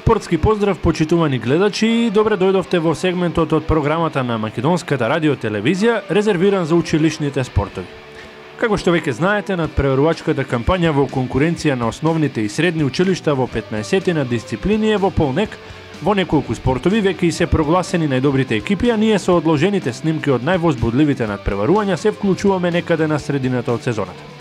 Спортски поздрав, почитувани гледачи, и добре дојдовте во сегментот од програмата на Македонската радио-телевизија, резервиран за училишните спортови. Како што веќе знаете, надпреварувачката кампања во конкуренција на основните и средни училишта во 15-тина дисциплини е во полнек. Во неколку спортови веќе и се прогласени најдобрите екипи, а ние со одложените снимки од највозбудливите надпреварувања се вклучуваме некаде на средината од сезоната.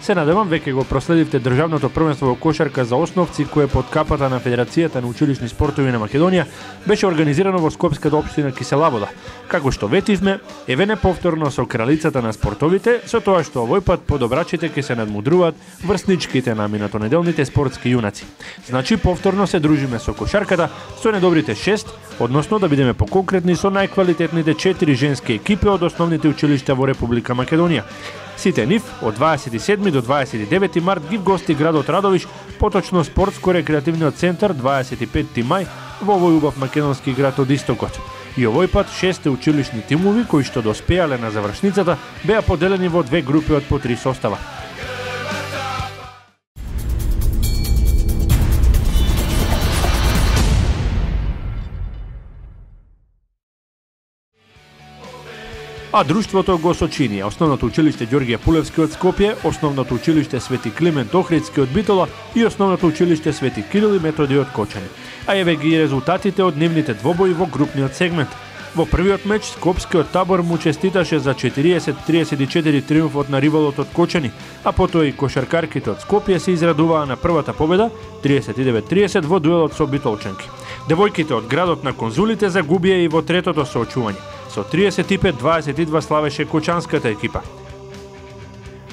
Се надевам веќе го проследивте државното првенство во кошарка за основци кое под капата на Федерацијата на училишни спортови на Македонија беше организирано во Скопската општина Кисела Вода. Како што ветивме, еве не повторно со кралицата на спортовите, со тоа што овој пат подобрачите ќе се надмудруваат врсничките на минатонеделните спортски јунаци. Значи повторно се дружиме со кошарката, со недобрите 6, односно да бидеме поконкретни со најквалитетните 4 женски екипи од основните училишта во Република Македонија. Сите нив од 27 до 29 март ги вгости градот Радовиш, поточно спортско-рекреативниот центар 25 мај во овој убав македонски град од истокот. И овој пат 6 училишни тимови кои што доспеале на завршницата беа поделени во 2 групи од по 3 состава. А друштвото го сочини Основното училиште Ѓорѓе Пулевски од Скопје, Основното училиште Свети Климент Охридски од Битола и Основното училиште Свети Кирил и Методи од Кочани. А еве ги резултатите од нивните двобои во групниот сегмент. Во првиот меч Скопскиот табор му честиташе за 40-34 триумфот на ривалот од Кочани, а потоа и кошаркарките од Скопје се израдуваа на првата победа 39-30 во дуелот со битолчанки. Девојките од градот на конзулите загубија и во третото соочување. Со 35-22 славеше кочанската екипа.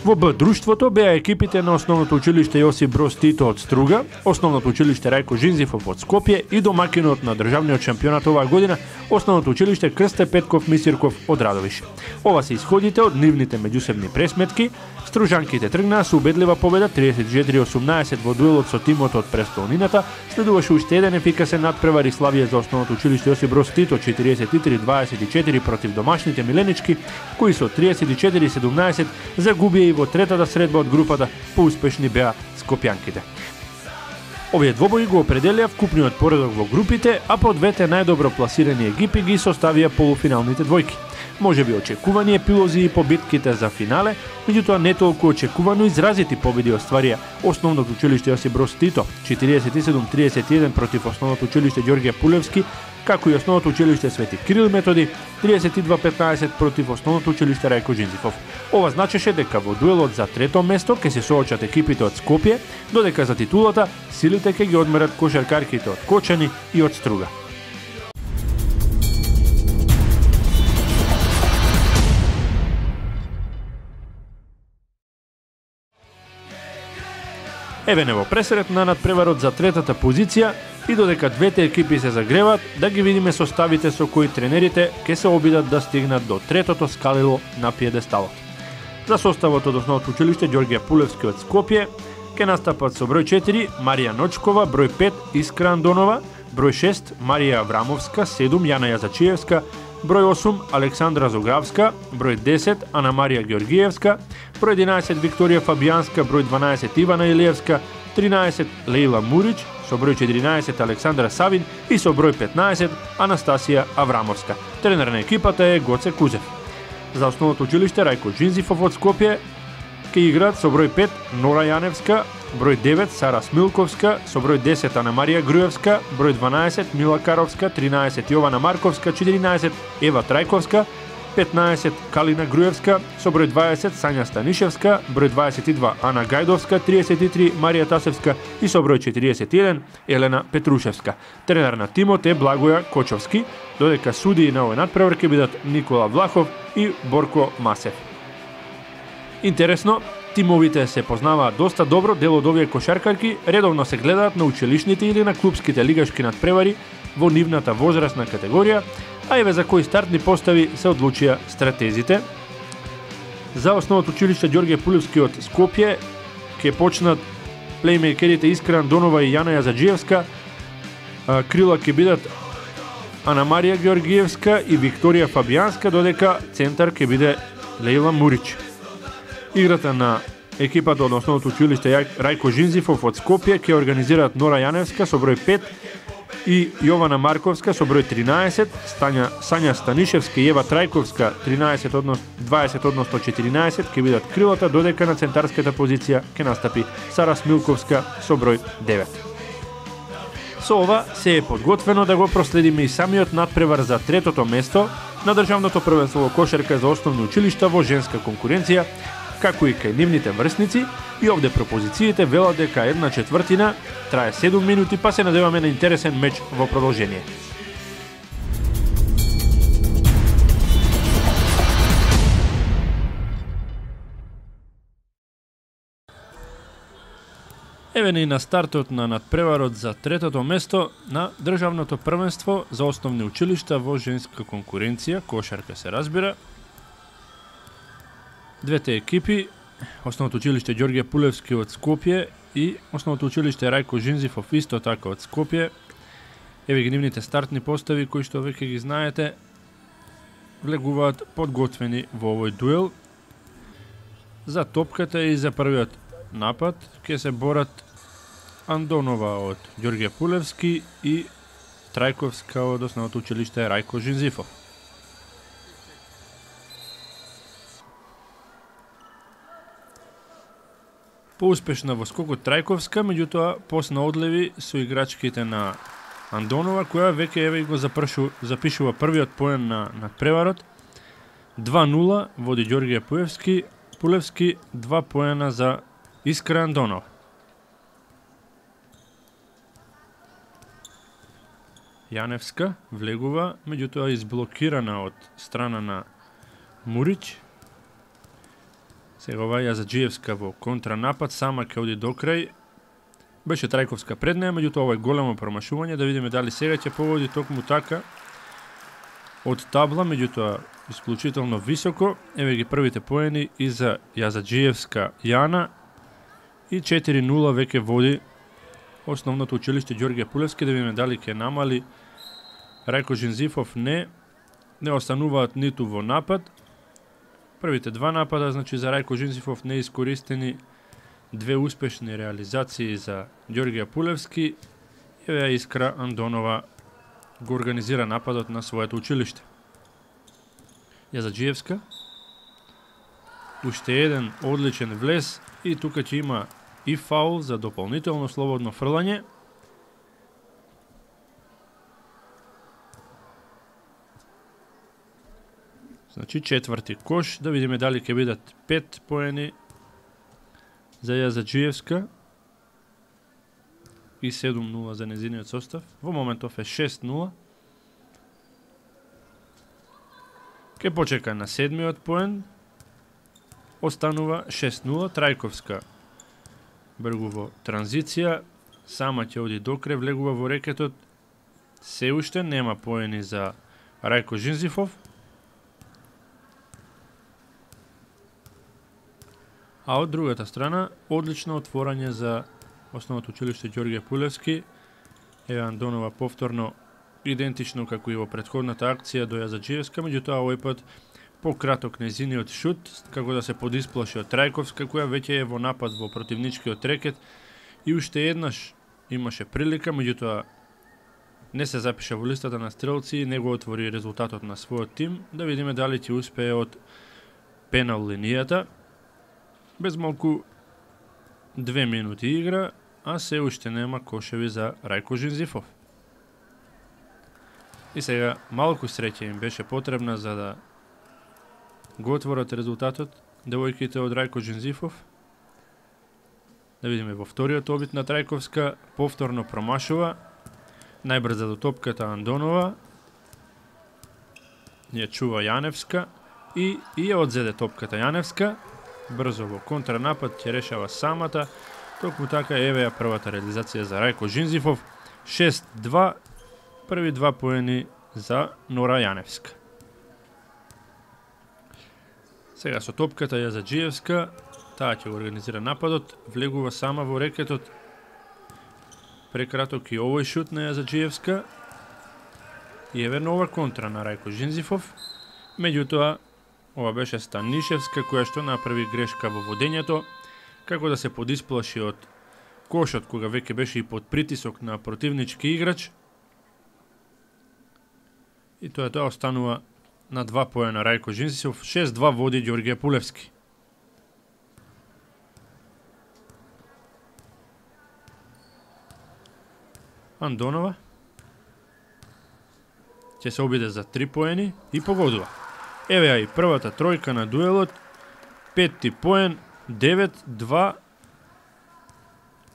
Во Б друштвото беа екипите на Основното училиште Јосип Броз Тито од Струга, Основното училиште Рајко Жинзифов од Скопје и домакинот на државниот шампионат оваа година Основното училиште Крсте Петков Мисирков од Радовиш. Ова се исходите од нивните меѓусебни пресметки. Стружанките тргнаа со убедлива победа 34-18 во дуелот со тимот од престолнината. Следуваше уште еден ефикасен надпревар и славие за Основното училиште Јосип Броз Тито 43-24 против домашните миленички, кои со 34-17 загубија и во третата средба од групата, поуспешни беа скопјанките. Овие двобои го определија вкупниот поредок во групите, а по двете најдобро пласирани екипи ги составија полуфиналните двојки. Може би очекувани епилози и побитките за финале, меѓутоа не толку очекувано изразити победи остварија Основното училиште Јосип Броз Тито 47-31 против Основното училиште Ѓорѓе Пулевски, како и Основното училиште Свети Кирил Методи 32-15 против Основното училиште Рајко Жинзифов. Ова значеше дека во дуелот за трето место ќе се соочат екипите од Скопје, додека за титулата силите ќе ги одмерат кошаркарките од Кочани и од Струга. Еве не во пресред на надпреварот за третата позиција и додека двете екипи се загреваат, да ги видиме составите со кои тренерите ќе се обидат да стигнат до третото скалило на пиедесталот. За составот од Основното училиште Ѓорѓе Пулевски од Скопје ќе настапат со број 4 Марија Ночкова, број 5 Искра Андонова, број 6 Марија Аврамовска, 7 Јана Јазачиевска, број 8 Александра Зогравска, број 10 Ана Марија Ѓоргиевска, број 11 Викторија Фабијанска, број 12 Ивана Илиевска, 13 Леила Мурич, со број 14 Александра Савин и со број 15 Анастасија Аврамовска. Тренер на екипата е Гоце Кузев. За Основното училиште Рајко Жинзифов од Скопје ќе играат со број 5 Нора Јаневска, број 9 Сара Смилковска, со број 10 Ана Марија Груевска, број 12 Мила Каровска, 13 Јована Марковска, 14 Ева Трајковска, 15 Калина Груевска, со број 20 Сања Станишевска, број 22 Ана Гајдовска, 33 Марија Тасевска и со број 41 Елена Петрушевска. Тренер на тимот е Благоја Кочовски, додека судии на овој надпревар ќе бидат Никола Влахов и Борко Масев. Интересно, тимовите се познаваат доста добро, дел од овие кошаркарки редовно се гледаат на училишните или на клубските лигашки надпревари во нивната возрастна категорија, а еве за кои стартни постави се одлучија стратезите. За Основното училиште Ѓорѓе Пулевски од Скопје ќе почнат плеймейкерите Искра Андонова и Јана Јазаджиевска, крила ќе бидат Ана Марија Ѓоргиевска и Викторија Фабијанска, додека центар ќе биде Леила Мурич. Играта на екипата од Основното училиште Рајко Жинзифов од Скопје ќе организираат Нора Јаневска со број 5 и Јована Марковска со број 13, Сања Станишевска и Ева Трајковска 13 односно 14 ќе бидат крилата, додека на центарската позиција ќе настапи Сара Смилковска со број 9. Со ова се е подготвено да го проследиме и самиот надпревар за третото место на државното првенство во кошарка за основни училишта во женска конкуренција, како и кај нивните врсници, и овде пропозициите велат дека 1/4 трае 7 минути, па се надеваме на интересен меч во продолжение. Еве ни на стартот на надпреварот за третото место на државното првенство за основни училишта во женска конкуренција, кошарка се разбира. Двете екипи, Основното училиште Ѓорѓе Пулевски од Скопје и Основното училиште Рајко Жинзифов исто така од Скопје. Еве ги нивните стартни постави кои што веќе ги знаете, влегуваат подготвени во овој дуел. За топката и за првиот напад ќе се борат Андонова од Ѓорѓе Пулевски и Трајковска од Основното училиште Рајко Жинзифов. Поуспешна во скокот Трајковска, меѓутоа посна одлеви со играчките на Андонова, која веќе еве го запишува првиот поен на надпреварот. 2:0 води Ѓорѓе Пулевски, 2 поена за Искра Андонова. Јаневска влегува, меѓутоа изблокирана од страна на Мурич. Сега ова Јазаджиевска во контранапад, сама ќе оди до крај. Беше Трајковска пред неја, меѓутоа ова е големо промашување, да видиме дали сега ќе погоди токму така од табла, меѓутоа исклучително високо. Еве ги првите поени и за Јазаджиевска Јана и 4:0 веќе води Основното училиште Ѓорѓе Пулевски, да видиме дали ќе намали. Рајко Жинзифов не остануваат ниту во напад. Првите два напада, значи за Рајко Жинзифов не искористени, две успешни реализации за Ѓорѓе Пулевски. Еве Искра Андонова го организира нападот на своето училиште. Јазаджиевска. Уште еден одличен влез и тука ќе има и фаул за дополнително слободно фрлање. Значи четврти кош, да видиме дали ќе бидат 5 поени за Јазаджиевска и 7:0 за незиниот состав. Во моментов е 6:0. Ке почека на седмиот поен. Останува 6:0. Трајковска бргу во транзиција, сама ќе оди до крај, влегува во рекетот. Се уште нема поени за Рајко Жинзифов. А од другата страна, одлично отворање за Основното училиште Ѓорѓе Пулевски. Еве Андонова повторно идентично како и во претходната акција до Јазаджиевска, меѓутоа овој пат пократок незиниот шут, како да се подисплаши од Трајковска, која веќе е во напад во противничкиот рекет и уште еднаш имаше прилика, меѓутоа не се запиша во листата на стрелци и не го отвори резултатот на својот тим. Да видиме дали ќе успее од пенал линијата. Без малку 2 минути игра, а се уште нема кошеви за Рајко Жинзифов. И сега малку среќа им беше потребна за да го отворат резултатот девојките од Рајко Жинзифов. Да видиме во вториот обид на Трајковска, повторно промашува. Најбрза до топката Андонова. Ја чува Јаневска и ја одзеде топката Јаневска. Брзо во контранапад ќе решава самата. Токму така еве ја првата реализација за Рајко Жинзифов. 6:2, први 2 поени за Нора Јаневска. Сега со топката Јазаджиевска, таа ќе го организира нападот, влегува сама во рекетот. Прекраток и овој шут на Јазаджиевска. И еве нова контра на Рајко Жинзифов. Меѓутоа, ова беше Станишевска која што направи грешка во водењето, како да се подисплаши од кошот кога веќе беше и под притисок на противнички играч. И тоа останува на 2 поена Рајко Жинзифов, 6-2 води Ѓорѓе Пулевски. Андонова ќе се обиде за 3 поени и погодува. Еве ја и првата тројка на дуелот, 5-ти поен, 9-2.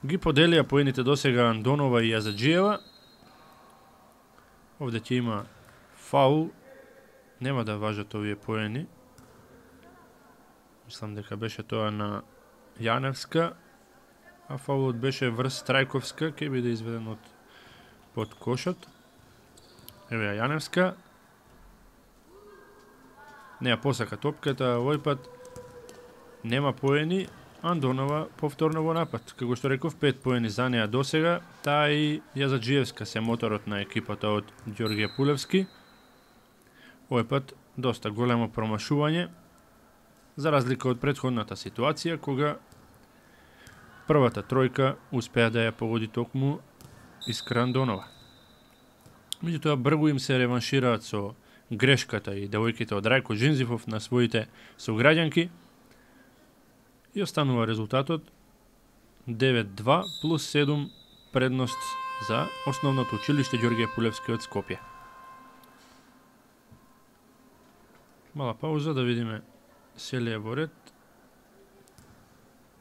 Ги поделија поените досега Андонова и Јазаџиева. Овде ќе има фаул, нема да важат овие поени. Мислам дека беше тоа на Јаневска, а фаулот беше врз Трајковска, ќе биде изведен од под кошот. Еве ја Јаневска. Не ја посака топката, овој пат нема поени. Андонова повторно во напад. Како што реков, 5 поени за неа досега. Таа и Јазаџиевска се моторот на екипата од Ѓорѓе Пулевски. Овој пат доста големо промашување, за разлика од претходната ситуација, кога првата тројка успеа да ја погоди токму Искра Андонова. Меѓутоа, бргу им се реваншираат со грешката и девојките од Рајко Жинзифов на своите сограѓанки и останува резултатот 9-2 плюс 7 предност за Основното училиште Ѓорѓе Пулевски од Скопје. Мала пауза да видиме се ли е во ред.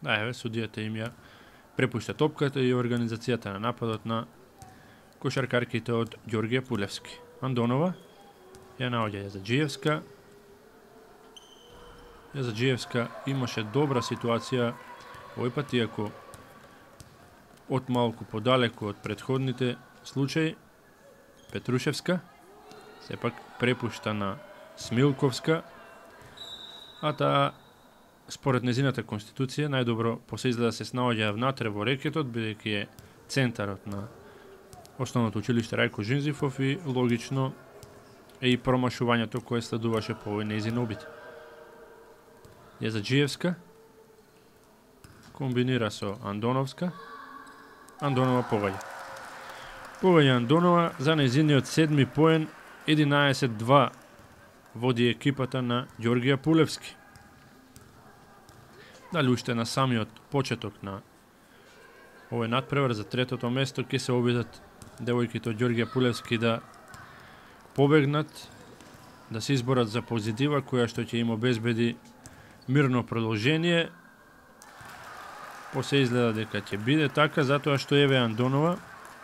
Да, еве, судијата им ја препушта топката и организацијата на нападот на кошаркарките од Ѓорѓе Пулевски. Андонова ја наоѓа Јазаџиевска. Јазаџиевска имаше добра ситуација овој пат, иако од малку подалеку од претходните случаи. Петрушевска сепак препушта на Смилковска, а таа според незината конституција најдобро се изгледа се снаоѓа внатре во рекетот, бидејќи е центарот на Основното училиште Рајко Жинзифов и логично е и промашувањето кое следуваше по овој нејзин обид. Јазаџиевска комбинира со Андоновска. Андонова погаѓа. Погаѓа Андонова за нејзиниот 7-ми поен, 11-2 води екипата на Ѓорѓе Пулевски. Дали уште на самиот почеток на овој надпревар за третото место ќе се обидат девојките од Ѓорѓе Пулевски да побегнат, да се изборат за позитива која што ќе им обезбеди мирно продолжение. Посе изгледа дека ќе биде така, затоа што еве Андонова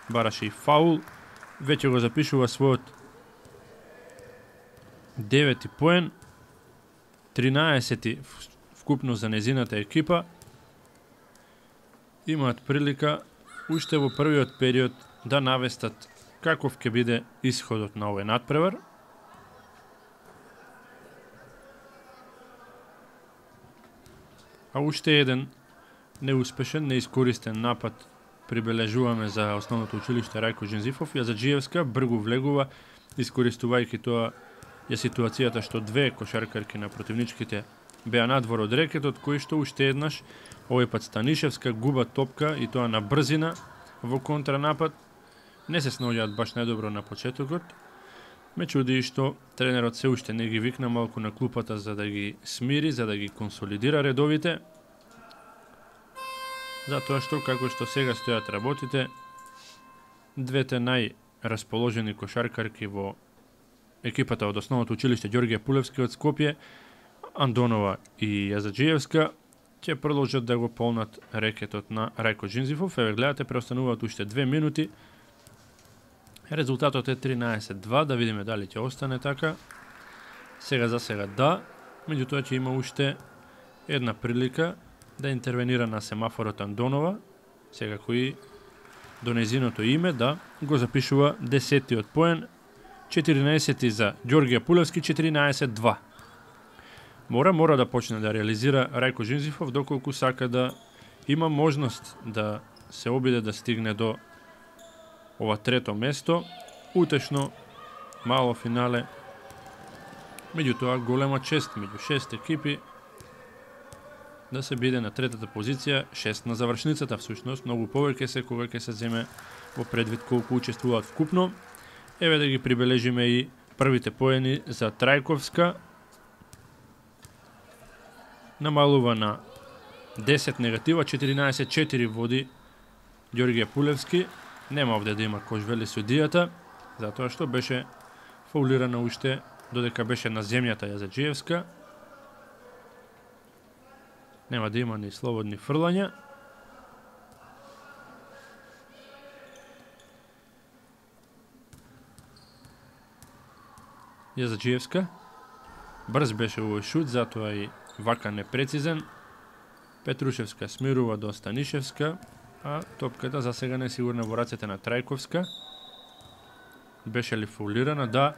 бараше и фаул, веќе го запишува својот 9-ти поен, 13-ти вкупно за незината екипа. Имаат прилика уште во првиот период да навестат каков ќе биде исходот на овој надпревар. А уште еден неуспешен, неискористен напад прибележуваме за Основното училиште Рајко Жинзифов. Јазаџиевска бргу влегува, искористувајќи тоа е ситуацијата што две кошаркарки на противничките беа надвор од рекетот, кои што уште еднаш, овој пат Станишевска, губат топка и тоа на брзина во контранапад. Не се снаоѓаат баш најдобро на почетокот. Ме чуди што тренерот се уште не ги викна малку на клупата за да ги смири, за да ги консолидира редовите. Затоа што, како што сега стојат работите, двете најрасположени кошаркарки во екипата од Основното училиште Ѓорѓе Пулевски од Скопје, Андонова и Јазаџиевска, ќе продолжат да го полнат рекетот на Рајко Жинзифов. Еве гледате, преостануваат уште 2 минути. Резултатот е 13-2, да видиме дали ќе остане така. Сега за сега да, меѓутоа ќе има уште една прилика да интервенира на семафорот Андонова, сега кои до незиното име да го запишува 10-тиот поен, 14-ти за Ѓорѓе Пулевски, 14-2. Мора да почне да реализира Рајко Жинзифов доколку сака да има можност да се обиде да стигне до ова трето место, утешно мало финале. Меѓутоа голема чест меѓу 6 екипи да се биде на третата позиција, 6 на завршницата всушност, многу повеќе се кога ќе се земе во предвид колку учествуваат вкупно. Еве да ги прибележиме и Првите поени за Трајковска. Намалува на 10 негатива, 14-4 води Ѓорѓе Пулевски. Нема овде да има кош, вели судијата, затоа што беше фаулирана уште додека беше на земјата Јазаджиевска. Нема да има ни слободни фрлања. Јазаджиевска. Брз беше овој шут, затоа и вака непрецизен. Петрушевска смирува до Станишевска, а топката за сега не е сигурна во рацете на Трајковска. Беше ли фаулирана? Да,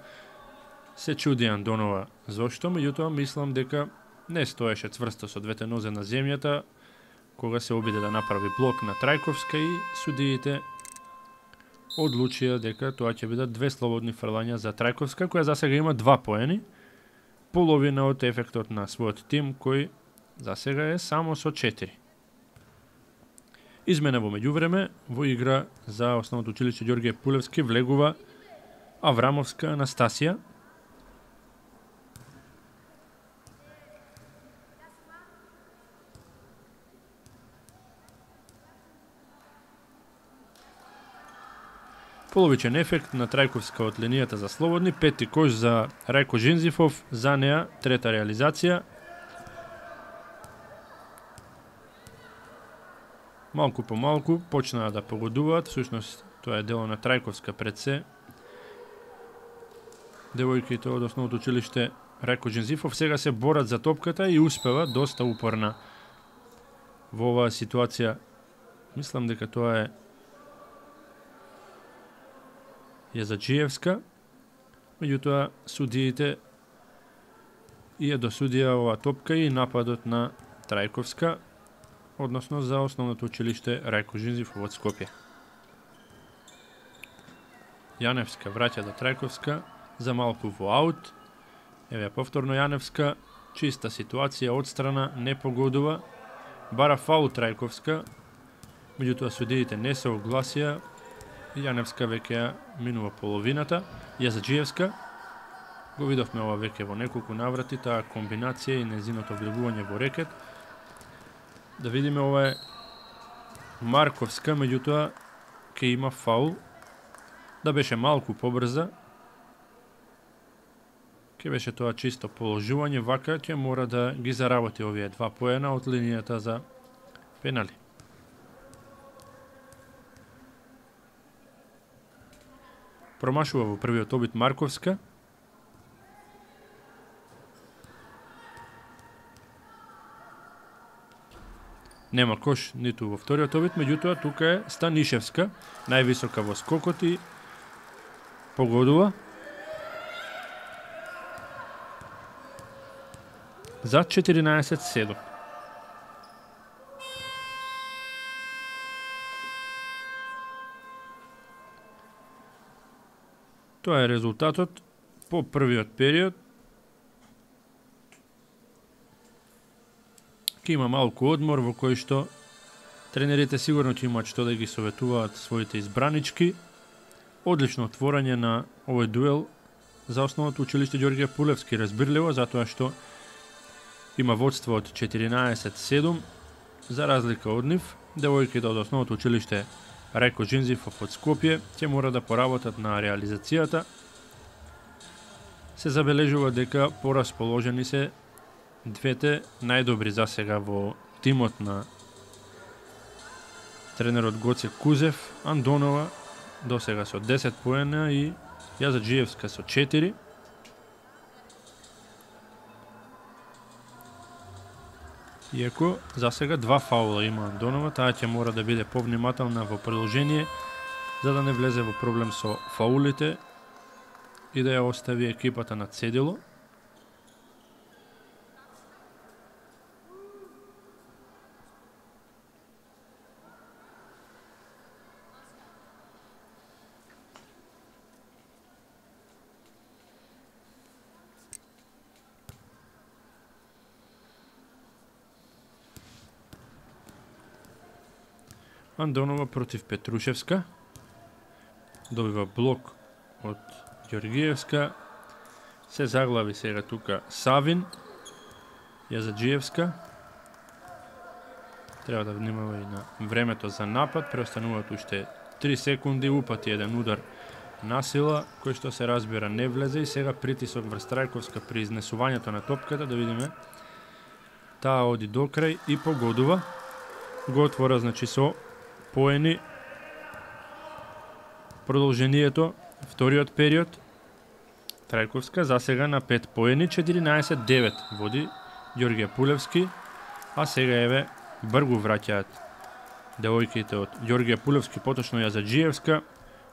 се чуди Андонова зошто, меѓутоа мислам дека не стоеше цврсто со двете нозе на земјата кога се обиде да направи блок на Трајковска и судиите одлучија дека тоа ќе бидат две слободни фрлања за Трајковска, која за сега има 2 поени, половина од ефектот на својот тим кој за сега е само со 4. Измена во меѓувреме во игра за основното училиште Ѓорѓе Пулевски влегува Аврамовска Анастасија. Половичен ефект на Трајковска од линијата за слободни, пети кош за Рајко Жинзифов, за неа трета реализација. Малку по малку почнаа да погодуваат, всушност тоа е дело на Трајковска пред се. Девојките од основното училиште Рајко Жинзифов сега се борат за топката и успева доста упорна во оваа ситуација. Мислам дека тоа е Јазаджиевска, меѓутоа судиите ја досудија оваа топка и нападот на Трајковска, односно за основното училиште Рајко Жинзифов од Скопје. Јаневска враќа до Трајковска за малку во аут. Еве повторно Јаневска, чиста ситуација од страна, не погодува. Бара фаул Трајковска, меѓутоа судиите не се огласија. Јаневска веќе минува половината. Јазаджиевска, го видовме ова веќе во неколку наврати, таа комбинација и незиното влегување во рекет. Да видиме, ова е Марковска, меѓутоа ќе има фаул. Да беше малку побрза, ќе беше тоа чисто положување, вака ќе мора да ги заработи овие 2 поена од линијата за пенали. Промашува во првиот обид Марковска. Нема кош ниту во вториот обид, меѓутоа тука е Станишевска, највисока во скокот и погодува за 14-7. Тоа е резултатот по првиот период. Ке има малку одмор во кој што тренерите сигурно ќе имаат што да ги советуваат своите избранички. Одлично отворање на овој дуел за основното училиште Ѓорѓе Пулевски, разбирливо, затоа што има водство од 14-7, за разлика од нив. Девојките од основното училиште Рајко Жинзифов од Скопје ќе мора да поработат на реализацијата. Се забележува дека порасположени се двете најдобри за сега во тимот на тренерот Гоце Кузев, Андонова до сега со 10 поена и Јазаджиевска со 4. Иако за сега 2 фаула има Андонова, таа ќе мора да биде повнимателна во продолжение за да не влезе во проблем со фаулите и да ја остави екипата на цедило. Андонова против Петрушевска. Добива блок од Ѓоргиевска. Се заглави сега тука Савин. Јазаджиевска. Треба да внимава и на времето за напад. Преостануваат уште 3 секунди. Упати еден удар на сила, кој што се разбира не влезе и сега притисок врз Трајковска при изнесувањето на топката, да видиме. Таа оди до крај и погодува. Го отвора, значи, со поени продолжението, вториот период. Трајковска засега на 5 поени, 14-9 води Ѓорѓе Пулевски, а сега еве бргу враќаат девојките од Ѓорѓе Пулевски, поточно Јазаджиевска,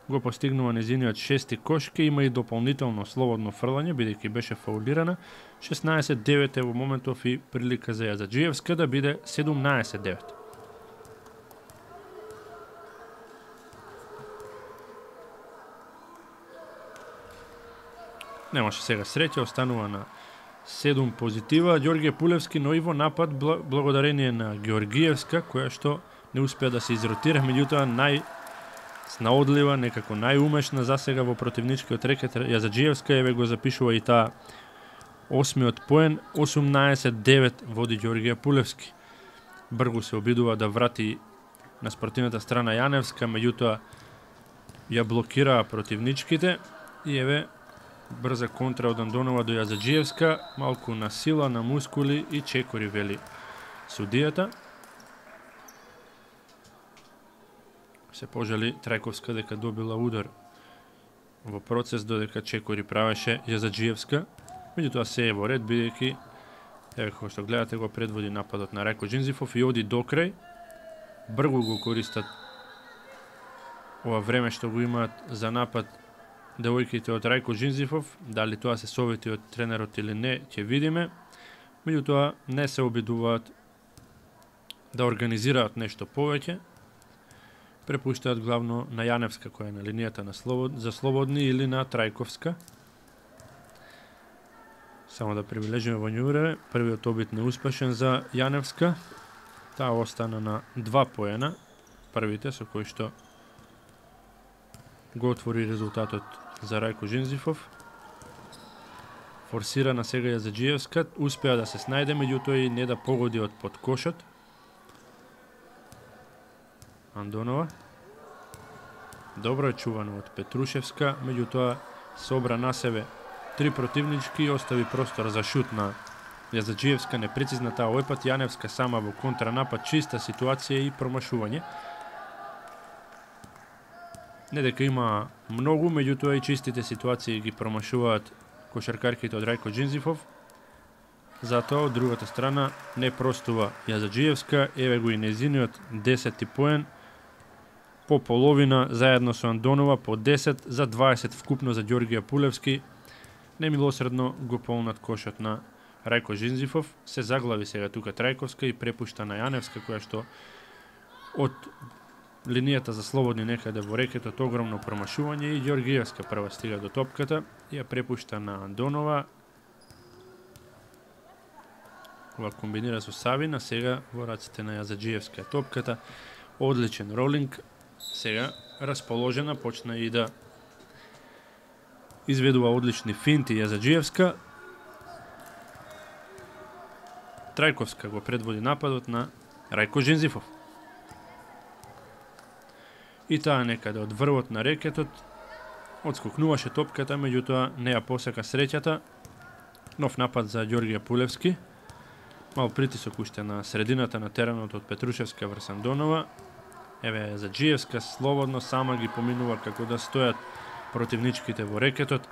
го постигнува незиниот 6-ти кош, ке има и дополнително слободно фрлање, бидејќи беше фаулирана. 16-9 е во моментов и прилика за Јазаджиевска да биде 17-9. Немаше сега среќа, останува на 7 позитива Ѓорѓе Пулевски, но и во напад благодарение на Георгиевска, која што не успеа да се изротира, меѓутоа снаодлива, некако најумешна засега во противничкиот рекет. Јазаджиевска еве го запишува и таа 8-миот поен, 18-9 води Ѓорѓе Пулевски. Бргу се обидува да врати на спротивната страна Јаневска, меѓутоа ја блокираа противничките и еве брза контра од Андонова до Јазаджиевска, малку на сила, на мускули и чекори, вели судијата. Се пожали Трајковска дека добила удар во процес, додека чекори правеше Јазаджиевска. Меѓутоа се е во ред, бидејќи еве како што гледате го предводи нападот на Рајко Џинзифов и оди до крај. Бргу го користат ова време што го имаат за напад девојките од Рајко Џинзифов. Дали тоа се совети од тренерот или не, ќе видиме. Меѓутоа не се обидуваат да организираат нешто повеќе. Препуштаат главно на Јаневска, која е на линијата на за слободни, или на Трајковска. Само да прибележиме во њуре, првиот обид неуспешен за Јаневска. Таа остана на 2 поена, првите со кои што го отвори резултатот за Рајко Џинзифов. Форсира на сега Јазаджиевска, успеа да се снајде, меѓутоа и не да погоди од под кошот. Андонова. Добро е чувано од Петрушевска, меѓутоа собра на себе 3 противнички и остави простор за шут на Јазаджиевска, непрецизна таа овој пат. Јаневска сама во контранапад, чиста ситуација и промашување. Не дека има многу, меѓутоа и чистите ситуации ги промашуваат кошаркарките од Рајко Џинзифов. Затоа од другата страна не простува Јазаджиевска, еве го и незиниот 10-ти поен, по половина заедно со Андонова, по 10 за 20 вкупно за Ѓорѓе Пулевски. Немилосредно го полнат кошот на Рајко Џинзифов. Се заглави сега тука Трајковска и препушта на Јаневска, која што од линијата за слободни некаде во рекетот огромно промашување и Ѓоргиевска прва стига до топката и ја препушта на Андонова. Ова комбинира со Савина, сега во раците на Јазаджиевска топката. Одличен ролинг. Сега расположена, почна и да изведува одлични финти Јазаджиевска. Трајковска го предводи нападот на Рајко Џинзифов. И таа некаде од врвот на рекетот одскокнуваше топката, меѓутоа не ја посека среќата. Нов напад за Ѓорѓе Пулевски. Мал притисок уште на средината на теренот од Петрушевска врз Андонова. Еве Јазаджиевска слободно сама ги поминува како да стојат противничките во рекетот.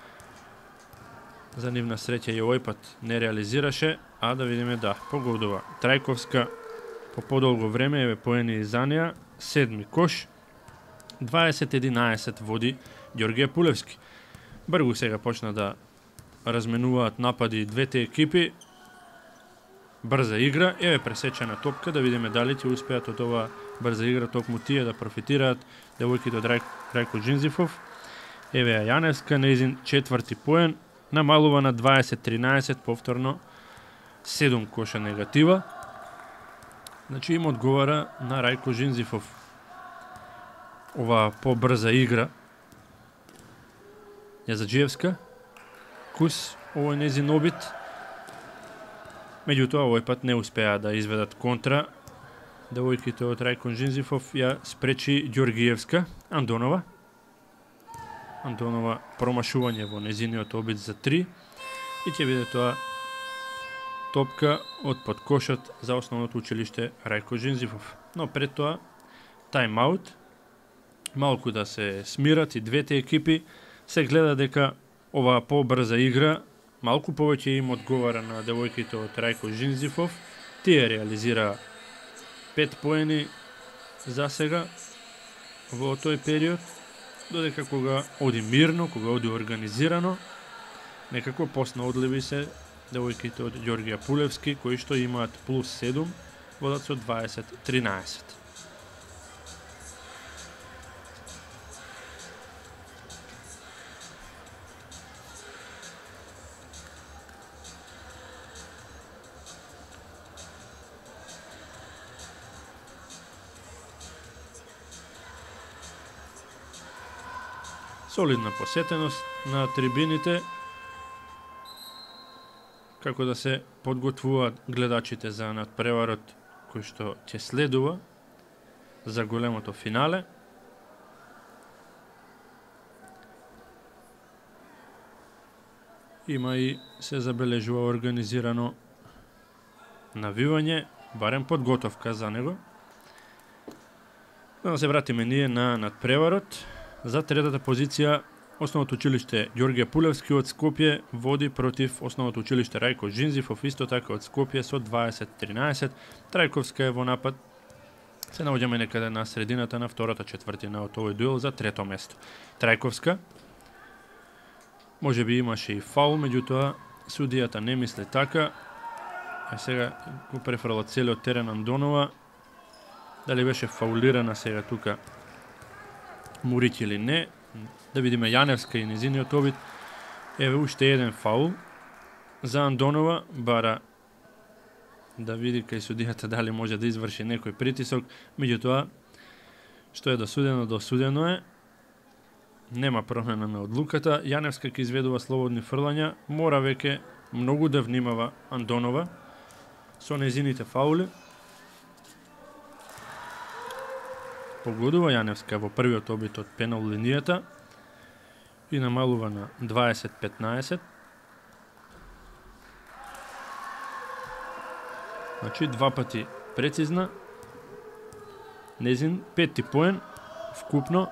За нивна среќа и овој пат не реализираше, а да видиме да погодува. Трајковска по подолго време еве поени за неа, 7-ми кош. 20-11 води Ѓорѓе Пулевски. Бргу сега почна да разменуваат напади двете екипи. Брза игра, еве пресечена топка, да видиме дали ќе успеат од ова брза игра токму тие да профитираат девојките од Рајко Џинзифов. Еве ја Јаневска, нејзин 4-ти поен, намалува на 20-13, повторно 7 коша негатива. Значи им одговара на Рајко Џинзифов ова побрза игра. Јазаджиевска, Кус овој незин обид. Меѓутоа овој пат не успеа да изведат контра. Девојките од Рајко Жинзифов ја спречи Ѓоргиевска. Андонова промашување во незиниот обид за 3 и ќе биде тоа топка од подкошот за основното училиште Рајко Жинзифов. Но пред тоа тајм-аут, малку да се смират и двете екипи, се гледа дека оваа побрза игра малку повеќе им одговара на девојките од Рајко Жинзифов. Тие реализира 5 поени за сега во тој период, додека кога оди мирно, кога оди организирано, некако поснаодливи се девојките од Ѓорѓија Пулевски, кои што имаат плюс 7, водат со 20-13. Солидна посетеност на трибините, како да се подготвуваат гледачите за надпреварот кој што ќе следува за големото финале. Има и се забележува организирано навивање, барем подготовка за него. Да се вратиме ние на надпреварот. За третата позиција Основното училиште Ѓорѓе Пулевски од Скопје води против Основното училиште Рајко Жинзифов, исто така од Скопје со 20-13. Трајковска е во напад. Се наоѓаме некаде на средината на втората четвртина од овој дуел за трето место. Трајковска можеби имаше и фаул, меѓутоа судијата не мисли така. А сега го префрла целиот терен Андонова. Дали беше фаулирана сега тука Мурич или не? Да видиме Јаневска и незиниот обид. Еве уште еден фаул за Андонова, бара да види кај судијата дали може да изврши некој притисок, меѓутоа што е досудено е. Нема промена на одлуката. Јаневска ќе изведува слободни фрлања, мора веќе многу да внимава Андонова со незините фаули. Погодува Јаневска во првиот обид од пенал линијата и намалува на 20-15. Значи два пати прецизна. Незин пети поен вкупно.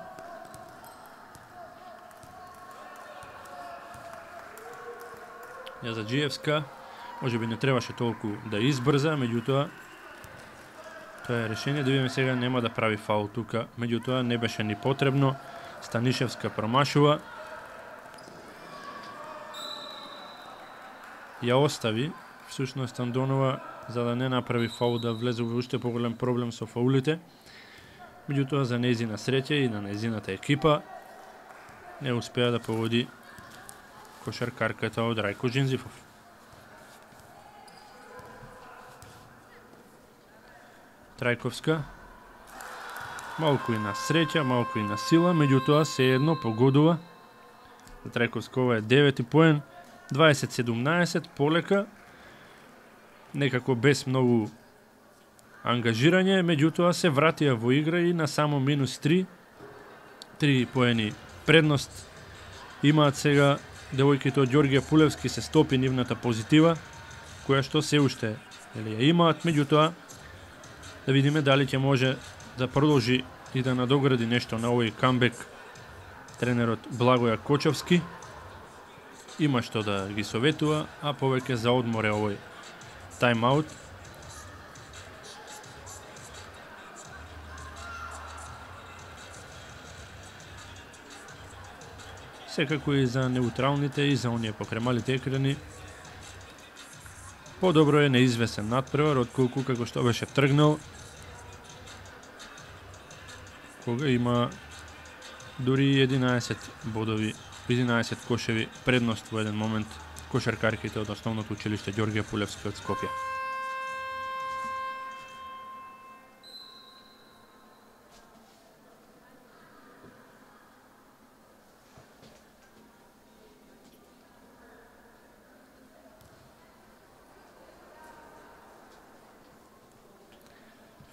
Јазаджиевска можеби не требаше толку да избрза, меѓутоа тоа е решение. Да видиме сега, нема да прави фаул тука, меѓутоа не беше ни потребно. Станишевска промашува. Ја остави всушност Андонова за да не направи фаул, да влезе во уште поголем проблем со фаулите. Меѓутоа за незина среќа и на незината екипа не успеа да погоди кошаркарката од Рајко Жинзифов. Трајковска малку и на среќа, малку и на сила, меѓутоа сеедно погодува. За Трајковска ова е 9-ти поен, 20-17, полека, некако без многу ангажирање, меѓутоа се вратија во игра и на само минус 3. 3 поени предност имаат сега девојките од Ѓорѓе Пулевски, се стопи нивната позитива, која што се уште ја имаат, меѓутоа да видиме дали ќе може да продолжи и да надогради нешто на овој камбек тренерот Благоја Кочовски. Има што да ги советува, а повеќе за одмор е овој тајм-аут. Секако и за неутралните и за оние покремалите екрани. Подобро е неизвесен надпревар отколку како што беше тргнал, кога има дури 11 бодови, 11 кошеви предност во еден момент кошаркарките од Основното училиште Ѓорѓе Пулевски од Скопје.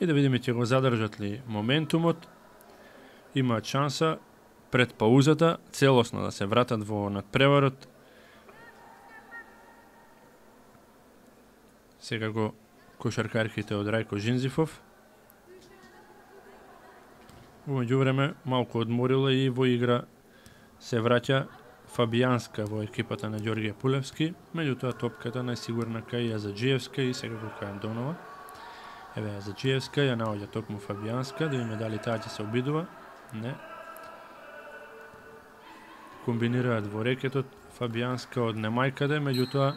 И да видиме ќе го задржат ли моментумот. Имаат шанса пред паузата целосно да се вратат во надпреварот. Секако кошаркарките од Рајко Жинзифов. Во меѓувреме малку одморила и во игра се враќа Фабијанска во екипата на Ѓорѓе Пулевски, меѓутоа топката најсигурна кај Јазаджиевска и секако кај Андонова. Еве Јазаджиевска ја наоѓа токму Фабијанска, да видиме дали таа ќе се обидува. Не. Комбинираат во рекетот Фабијанска од немајкаде, меѓутоа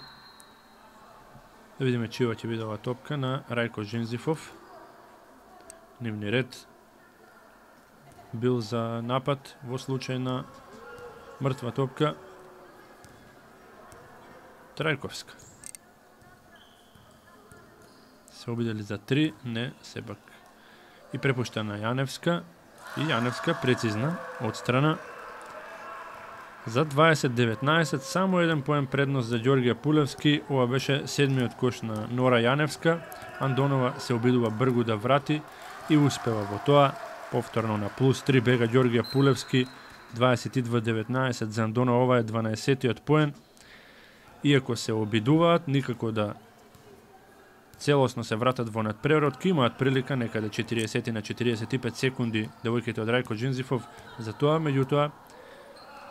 да видиме чија ќе биде ова топка на Рајко Жинзифов. Нивни ред бил за напад во случај на мртва топка. Трајковска. Се обидели за 3, не, сепак. И препушта на Јаневска. И Јаневска прецизна од страна. За 20-19, само еден поен предност за Ѓорѓе Пулевски. Ова беше седмиот кош на Нора Јаневска. Андонова се обидува бргу да врати и успева во тоа. Повторно на плюс 3 бега Ѓорѓе Пулевски. 22-19 за Андонова, ова е 12-тиот поен. Иако се обидуваат, никако да целосно се вратат во надпреварот, ки имаат прилика некаде 40 на 45 секунди девојките од Рајко Жинзифов за тоа, меѓутоа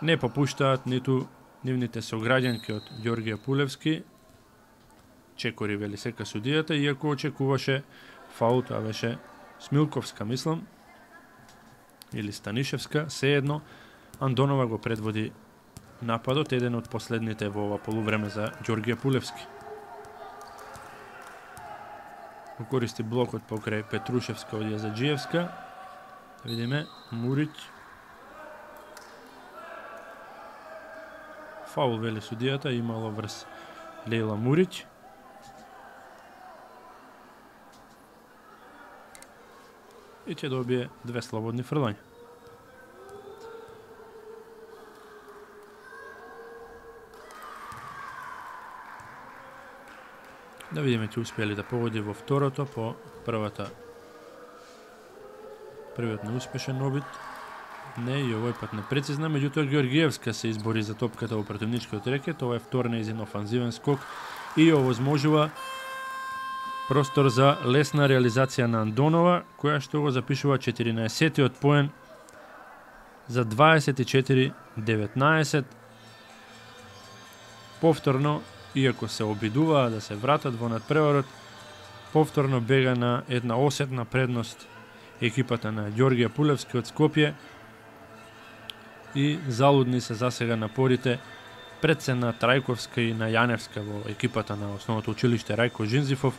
не попуштаат ниту нивните сограѓанки од Ѓорѓе Пулевски. Чекори вели сека судијата, иако очекуваше фаул, тоа беше Смилковска, мислам, или Станишевска, сеедно. Андонова го предводи нападот, еден од последните во ова полувреме за Ѓорѓе Пулевски. Го користи блокот покрај Петрушевска од Јазаджиевска. Да видиме, Мурич. Фаул вели судијата, имало врз Лејла Мурич. И ќе добие 2 слободни фрлања. Да видиме ќе успели да погоди во второто по првиот неуспешен обид. Не, и овој пат непрецизна, меѓутоа Ѓорѓиевска се избори за топката во противничкиот рекет. Ова е втор нејзин офанзивен скок и овозможува простор за лесна реализација на Андонова, која што го запишува 14-тиот поен за 24-19. Повторно, иако се обидуваа да се вратат во надпреварот, повторно бега на една осетна предност екипата на Ѓорѓе Пулевски од Скопје и залудни се засега напорите пред се на Трајковска и на Јаневска во екипата на основното училиште Рајко Жинзифов,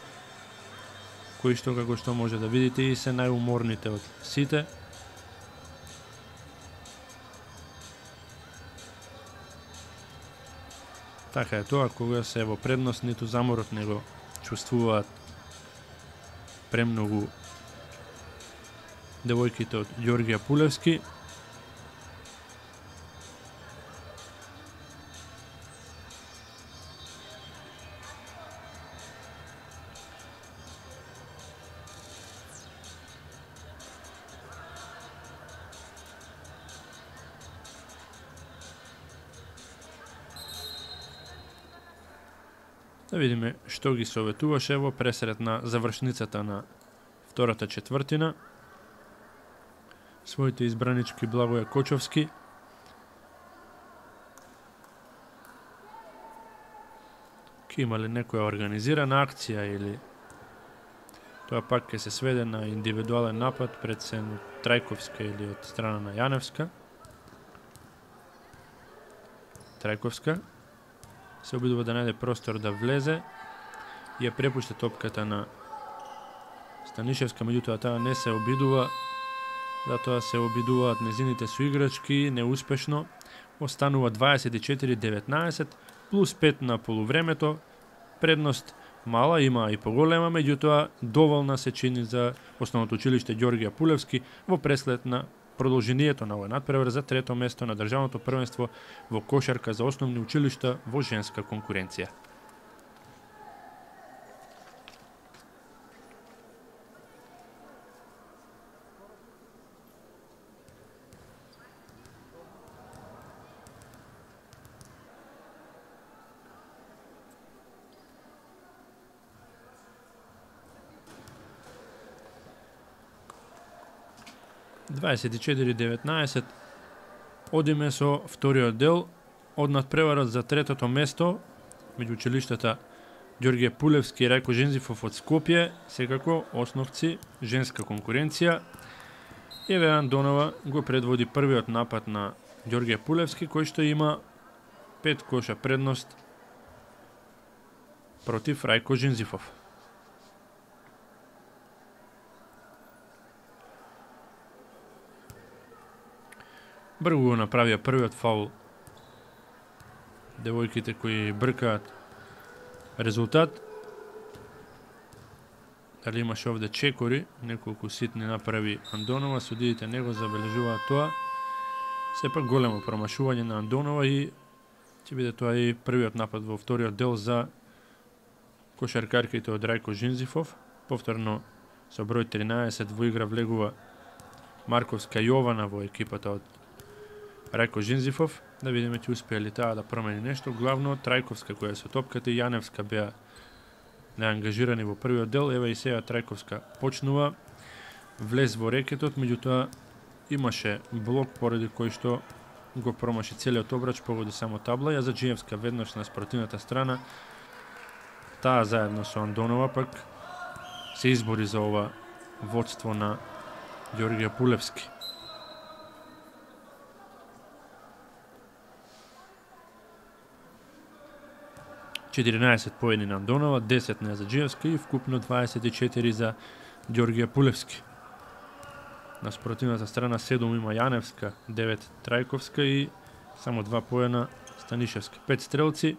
кои што, како што може да видите, и се најуморните од сите. Така е тоа, кога се во предност, ниту заморот не го чувствуваат премногу девојките од Ѓорѓе Пулевски. Да видиме што ги советуваше во пресред на завршницата на втората четвртина. Своите избранички Благоје Кочовски. Ке има ли некоја организирана акција или тоа пак ќе се сведе на индивидуален напад пред се од Трајковска или од страна на Јаневска. Трајковска се обидува да најде простор да влезе и ја препушта топката на Станишевска, меѓутоа таа не се обидува, затоа се обидуваат незините соиграчки неуспешно. Останува 24-19 плюс 5 на полувремето. Предност мала, има и поголема, меѓутоа доволна се чини за основното училиште Ѓорѓе Пулевски во преслед на продолжението на овој надпревар за трето место на државното првенство во кошарка за основни училишта во женска конкуренција. 24-19. Одиме со вториот дел од надпреварот за третото место меѓу училиштата Ѓорѓе Пулевски и Рајко Жензифов од Скопје, секако основци, женска конкуренција. Еве Андонова го предводи првиот напад на Ѓорѓе Пулевски, кој што има 5 коша предност против Рајко Жензифов. Бргу го направија првиот фаул девојките кои бркаат резултат. Дали имаше овде чекори, неколку ситни направи Андонова, судиите не го забележуваат тоа. Сепак големо промашување на Андонова и ќе биде тоа и првиот напад во вториот дел за кошаркарките од Рајко Жензифов. Повторно со број 13 во игра влегува Марковска Јована во екипата од Рајко Жензифов. Да видиме ќе успее ли таа да промени нешто. Главно Трајковска која со топката и Јаневска беа неангажирани во првиот дел. Еве и сега Трајковска почнува влез во рекетот, меѓутоа имаше блок поради кој што го промаши целиот обрач, погоди само табла. Јазаджиевска веднаш на спротивната страна. Таа заедно со Андонова пак се избори за ова водство на Ѓорѓе Пулевски. 14 поени на Андонова, 10 на Јазаджиевска и вкупно 24 за Ѓорѓе Пулевски. На спротивната страна 7 има Јаневска, 9 Трајковска и само 2 поена Станишевска. 5 стрелци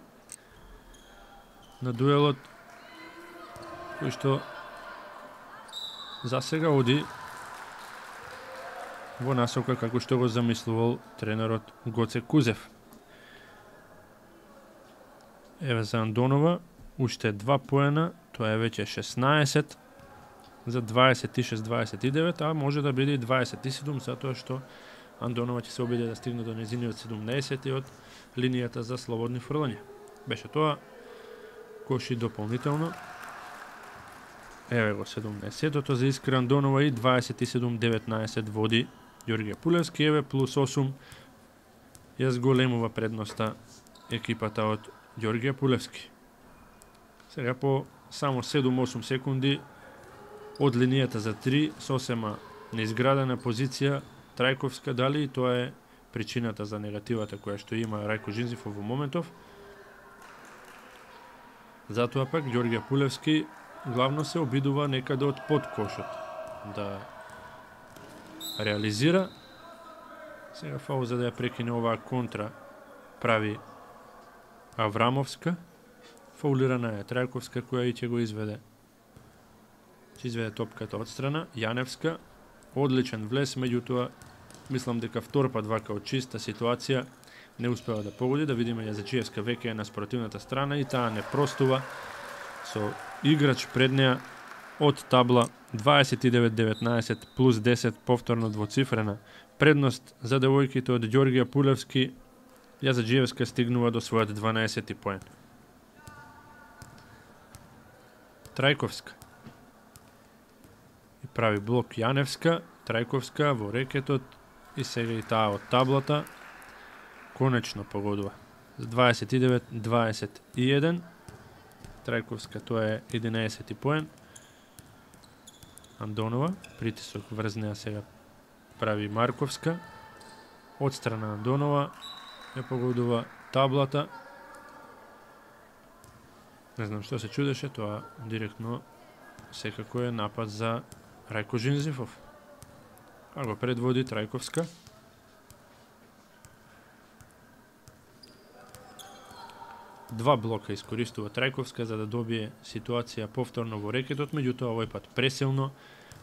на дуелот, кој што за сега оди во насока како што го замислувал тренерот Гоце Кузев. Еве за Андонова, уште 2 поена, тоа е веќе 16 за 26-29, а може да биде и 27, затоа што Андонова ќе се обиде да стигне до незиниот 17 од линијата за слободни фрлања. Беше тоа коши дополнително. Еве го 17-тото за Искра Андонова и 27-19 води Ѓорѓе Пулевски. Еве плюс 8 ја зголемува предноста екипата од Ѓорѓе Пулевски. Сега по само 7-8 секунди од линијата за 3, сосема неизградена позиција Трајковска, дали и тоа е причината за негативата која што има Рајко Жензифов во моментов. Затоа пак Ѓорѓе Пулевски главно се обидува некаде од под кошот да реализира. Сега фаул за да ја прекине оваа контра прави Аврамовска. Фаулирана е Трајковска која и ќе го изведе. Ќе изведе топката од страна. Јаневска, одличен влез, меѓутоа мислам дека втор пат вака од чиста ситуација не успева да погоди. Да видиме Јазаджиевска веќе е на спротивната страна и таа не простува со играч пред неа од табла. 29-19 плюс 10, повторно двоцифрена предност за девојките од Ѓорѓе Пулевски. Јазаджиевска стигнува до својот 12 поен. Трајковска и прави блок Јаневска, Трајковска во рекетот и сега и таа од таблата конечно погодува. 29-21 Трајковска, тоа е 11 поен. Андонова, притисок врз неа сега прави Марковска. Од страна Андонова ја погодува таблата. Не знам што се чудеше, тоа директно секако е напад за Рајко Жензифов. А го предводи Трајковска. Два блока искористува Трајковска за да добие ситуација повторно во рекетот, меѓутоа овој пат пресилно.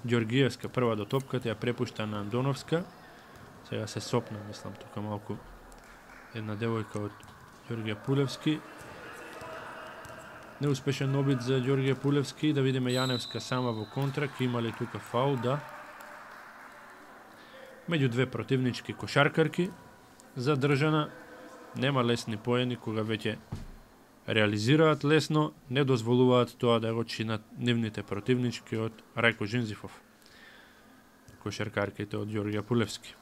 Ѓорѓиевска прва до топката ја препушта на Андоновска. Сега се сопна, мислам, тука малку една девојка од Ѓорѓе Пулевски. Неуспешен обид за Ѓорѓе Пулевски. Да видиме Јаневска сама во контра. Ке има ли тука фаул? Да. Меѓу две противнички кошаркарки задржана. Нема лесни поени кога веќе реализираат лесно, не дозволуваат тоа да го чинат нивните противнички од Рајко Жензифов. кошаркарките од Ѓорѓе Пулевски.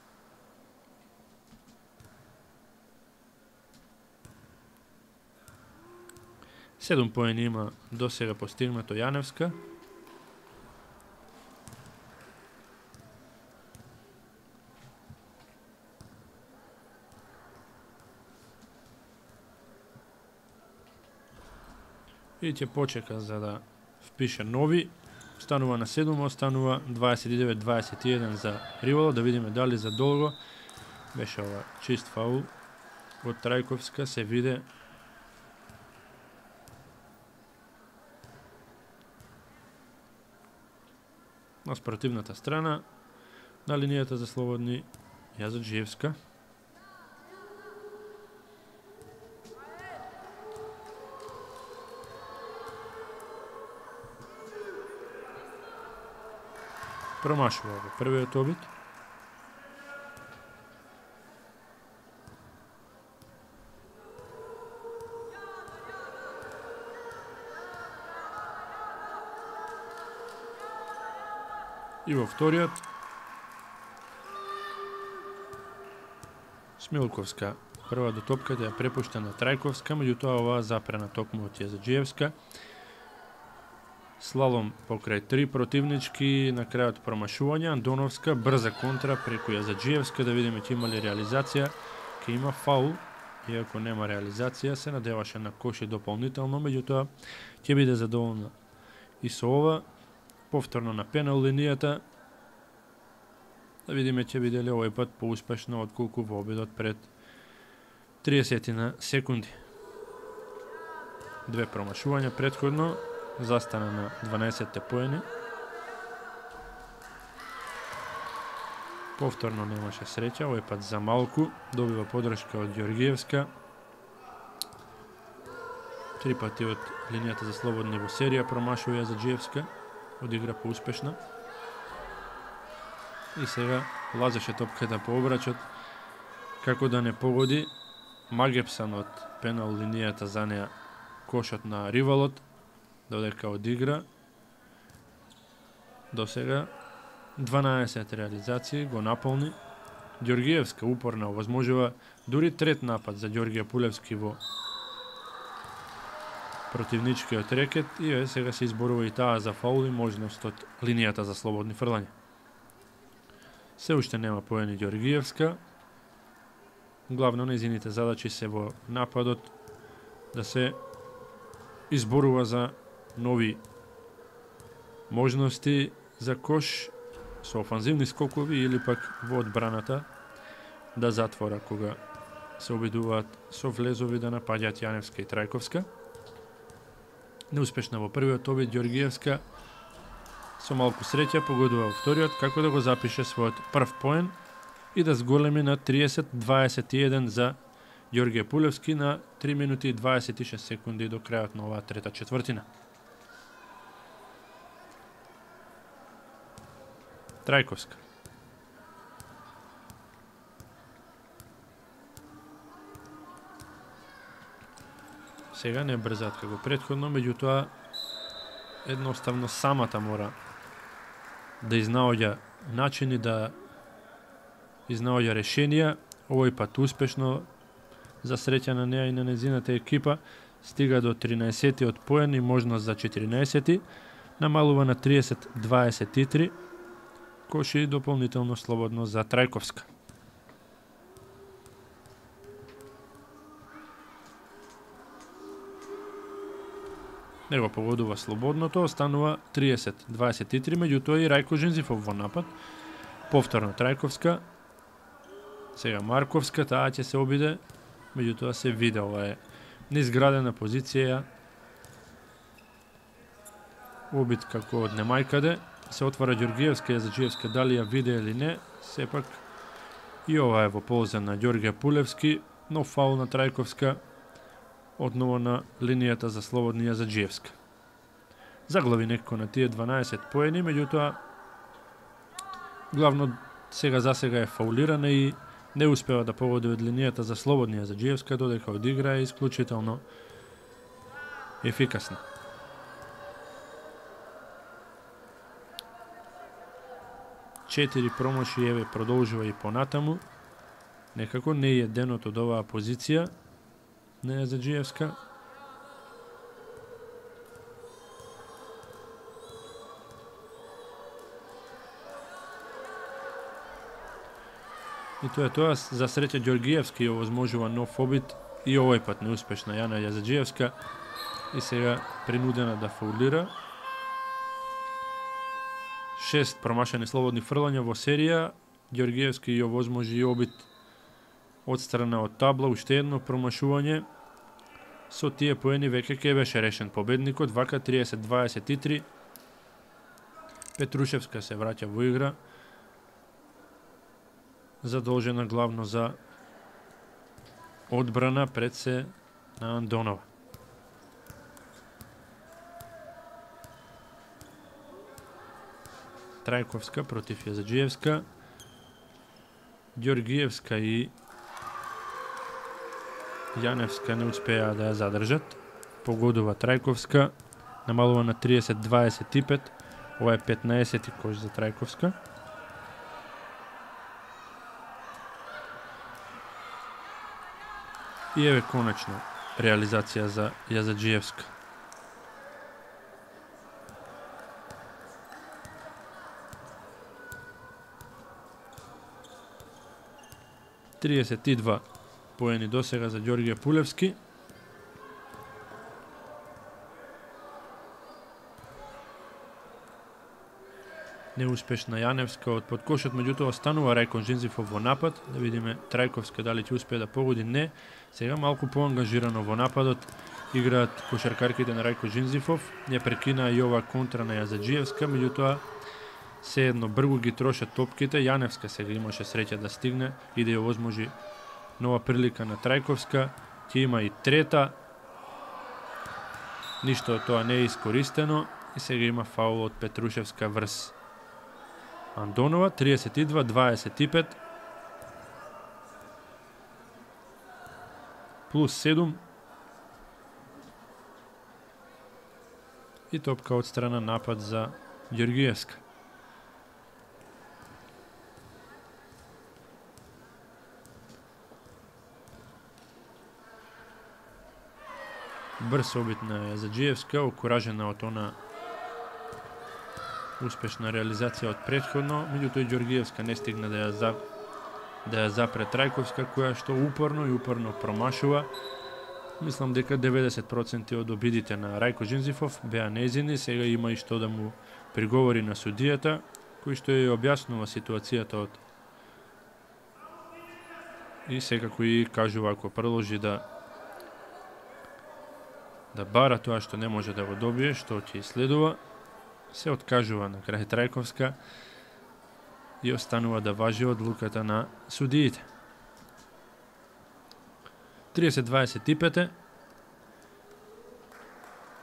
Седум поени има до сега постигнато Јаневска. И ќе почека за да впише нови. Останува на 7, останува 29-21 за Ривало. Да видиме дали за долго беше ова чист фаул од Трајковска. Се виде на спротивната страна на линијата за слободни Јазаджиевска. Промашува во првиот обид. И во вториот Смилковска прва до топката ја препушта на Трајковска, меѓутоа оваа запрена токму од Јазаджиевска. Слалом покрај 3 противнички, на крајот промашување, Андоновска, брза контра преку Јазаджиевска, да видиме ќе има ли реализација, ќе има фаул, иако нема реализација, се надеваше на коши дополнително, меѓутоа ќе биде задоволна и со ова. Повторно на пенал линијата, да видиме ќе биде ли овој пат поуспешно отколку во обидот пред 30 секунди. Две промашувања претходно, застана на 12 поени. Повторно немаше среќа, овој пат за малку, добива подршка од Ѓоргиевска. 3 пати од линијата за слободни во серија промашува Јазаджиевска, одигра поуспешно. И сега лазеше топката по обрачот, како да не погоди. Магепсан од пенал линијата за неа кошот на Ривалот, додека одигра. До сега 12 реализации го наполни. Ѓоргиевска упорно овозможува дури трет напад за Ѓорѓе Пулевски во противничкиот рекет и сега се изборува и таа за фаул и можност од линијата за слободни фрлања. Се уште нема поени Ѓоргиевска. Главно нејзините задачи се во нападот да се изборува за нови можности за кош со офанзивни скокови или пак во одбраната да затвора кога се обидуваат со влезови да напаѓаат Јаневска и Трајковска. Неуспешна во првиот обид Ѓоргиевска, со малку среќа погодува во вториот како да го запише својот прв поен и да зголеми на 30-21 за Ѓорѓе Пулевски на 3 минути и 26 секунди до крајот на оваа трета четвртина. Трајковска. Сега не брзаат како претходно, меѓутоа едноставно самата мора да изнаоѓа начини, да изнаоѓа решенија. Овој пат успешно, за среќа на неа и на незината екипа, стига до 13-тиот поен и можност за 14-ти, намалува на 30-23, коши дополнително слободно за Трајковска. Него погодува слободното, останува 30-23, меѓутоа и Рајко Жензифов во напад. Повторно Трајковска, сега Марковска, таа ќе се обиде, меѓутоа се виде, ова е неизградена позиција. Обид како од немајкаде, се отвара Ѓоргиевска, Јазаджиевска, дали ја виде или не, сепак и ова е во полза на Ѓорѓе Пулевски, но фаул на Трајковска, одново на линијата за слободни Јазаджиевска. Заглави некако на тие 12 поени, меѓутоа главно за сега е фаулирана и не успева да погоди од линијата за слободни Јазаджиевска, додека одигра е исклучително ефикасна. 4 промаши, еве продолжува и понатаму. Некако не е денот од оваа позиција на Јазаджиевска. И тоа е тоа, за среќа Ѓоргиевски овозможува нов обид и овој пат неуспешна Јана Јазаджиевска и сега принудена да фаулира. 6 промашени слободни фрлања во серија. Ѓоргиевски ја овозможи и обид од страна од табла, уште едно промашување. Со тие поени веќе ќе беше решен победникот, вака 30-23. Петрушевска се враќа во игра, задолжена главно за одбрана пред се на Андонова. Трајковска против Јазаджиевска. Ѓоргиевска и Јаневска не успеа да ја задржат. Погодува Трајковска, намалува на 30-25. Ова е 15-ти кош за Трајковска. И еве конечно реализација за Јазаджиевска. ...32 поени досега за Ѓорѓе Пулевски. Неуспешна Јаневска од подкошот, меѓутоа останува Рајко Жинзифов во напад. Да видиме Трајковска дали ќе успее да погоди, не. Сега малку поангажирано во нападот играат кошаркарките на Рајко Жинзифов. Не прекина и ова контра на Јазаджиевска, меѓутоа се едно бргу ги трошат топките. Јаневска сега имаше среќа да стигне и да ја овозможи нова прилика на Трајковска. Ќе има и трета. Ништо од тоа не е искористено и сега има фаул од Петрушевска врз Андонова. 32-25 плюс 7 и топка од страна напад за Ѓоргиевска. Брз обид на Јазаджиевска, окуражена од она успешна реализација од претходно, меѓутоа Ѓоргиевска не стигна да ја запре Трајковска, која што упорно промашува. Мислам дека 90% од обидите на Рајко Жинзифов беа нејзини, сега има и што да му приговори на судијата, кој што ја објаснува ситуацијата од и секако и кажува ако продолжи да бара тоа што не може да го добие, што ќе следува, се откажува на крај Трајковска и останува да важи одлуката на судиите. 30-25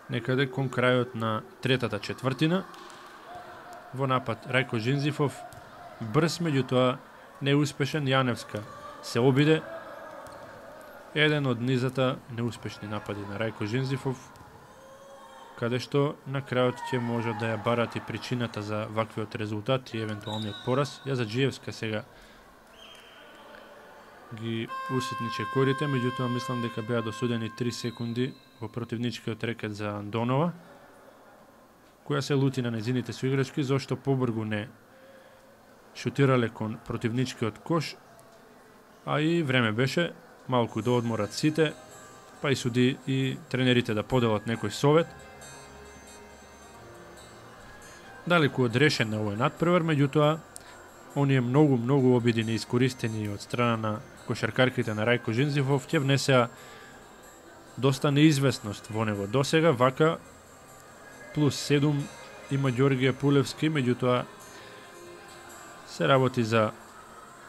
некаде кон крајот на третата четвртина. Во напад Рајко Жинзифов, брз, меѓутоа неуспешен. Јаневска се обиде. Еден од низата неуспешни напади на Рајко Жинзифов, каде што на крајот ќе може да ја барати причината за ваквиот резултат и евентуалниот пораз. Јазаджиевска сега ги уситни чекорите, меѓутоа мислам дека беа досудени 3 секунди во противничкиот рекет за Андонова, која се лути на нејзините соиграчки, зашто побргу не шутирале кон противничкиот кош, а и време беше малку да одморат сите, па и суди и тренерите да поделат некој совет. Далеку од решен на овој надпревар, меѓутоа оние многу обиди неискористени од страна на кошаркарките на Рајко Жинзифов ќе внесеа доста неизвестност во него досега. Вака плюс 7 има Ѓорѓе Пулевски, меѓутоа се работи за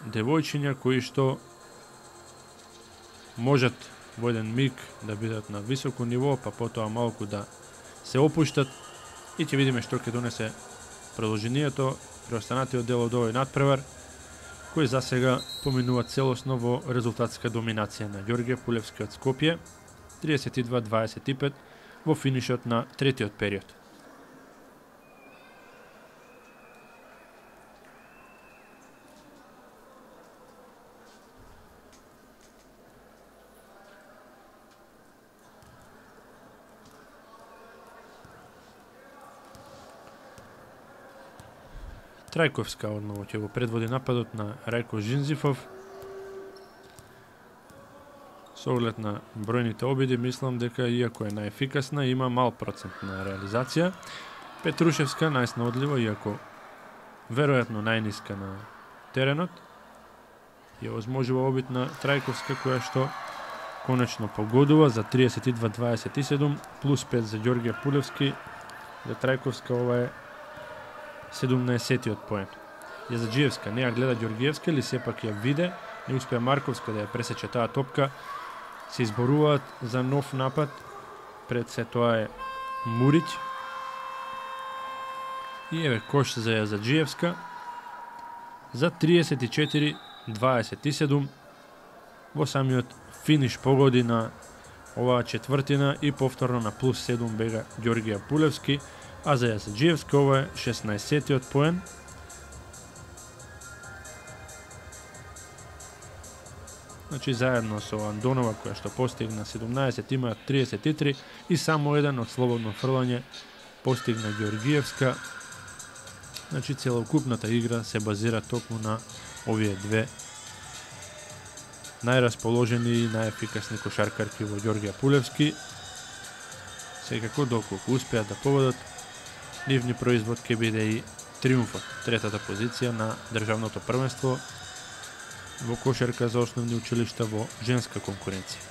девојчиња кои што можат во еден миг да бидат на високо ниво, па потоа малку да се опуштат и ќе видиме што ќе донесе продолжението, преостанатиот дел од овој надпревар, кој за сега поминува целосно во резултатска доминација на Ѓорѓе Пулевски од Скопје, 32-25 во финишот на третиот период. Трајковска одново ќе го предводи нападот на Рајко Жинзифов. Со оглед на бројните обиди, мислам дека иако е најефикасна, има мал процент на реализација. Петрушевска најснаодлива, иако веројатно најниска на теренот. Ја возможува обид на Трајковска, која што конечно погодува за 32-27, плюс 5 за Ѓорѓе Пулевски. За Трајковска ова е 17-тиот поен. Јазаджиевска не ја гледа Ѓорѓиевска, или сепак ја виде, не успеа Марковска да ја пресече таа топка. Се изборуваат за нов напад, пред се тоа е Мурич. И еве кош за Јазаджиевска за 34-27. Во самиот финиш погоди на оваа четвртина и повторно на плюс 7 бега Ѓорѓија Пулевски, а за Јазаджиевска ова е 16-тиот поен. Значи заедно со Андонова, која што постигна 17, имаат 33 и само еден од слободно фрлање постигна Ѓорѓиевска. Значи целокупната игра се базира токму на овие две најрасположени и најефикасни кошаркарки во Ѓорѓија Пулевски. Секако доколку успеат да победат, нивни производ ќе биде и триумфот, третата позиција на државното првенство во кошарка за основни училишта во женска конкуренција.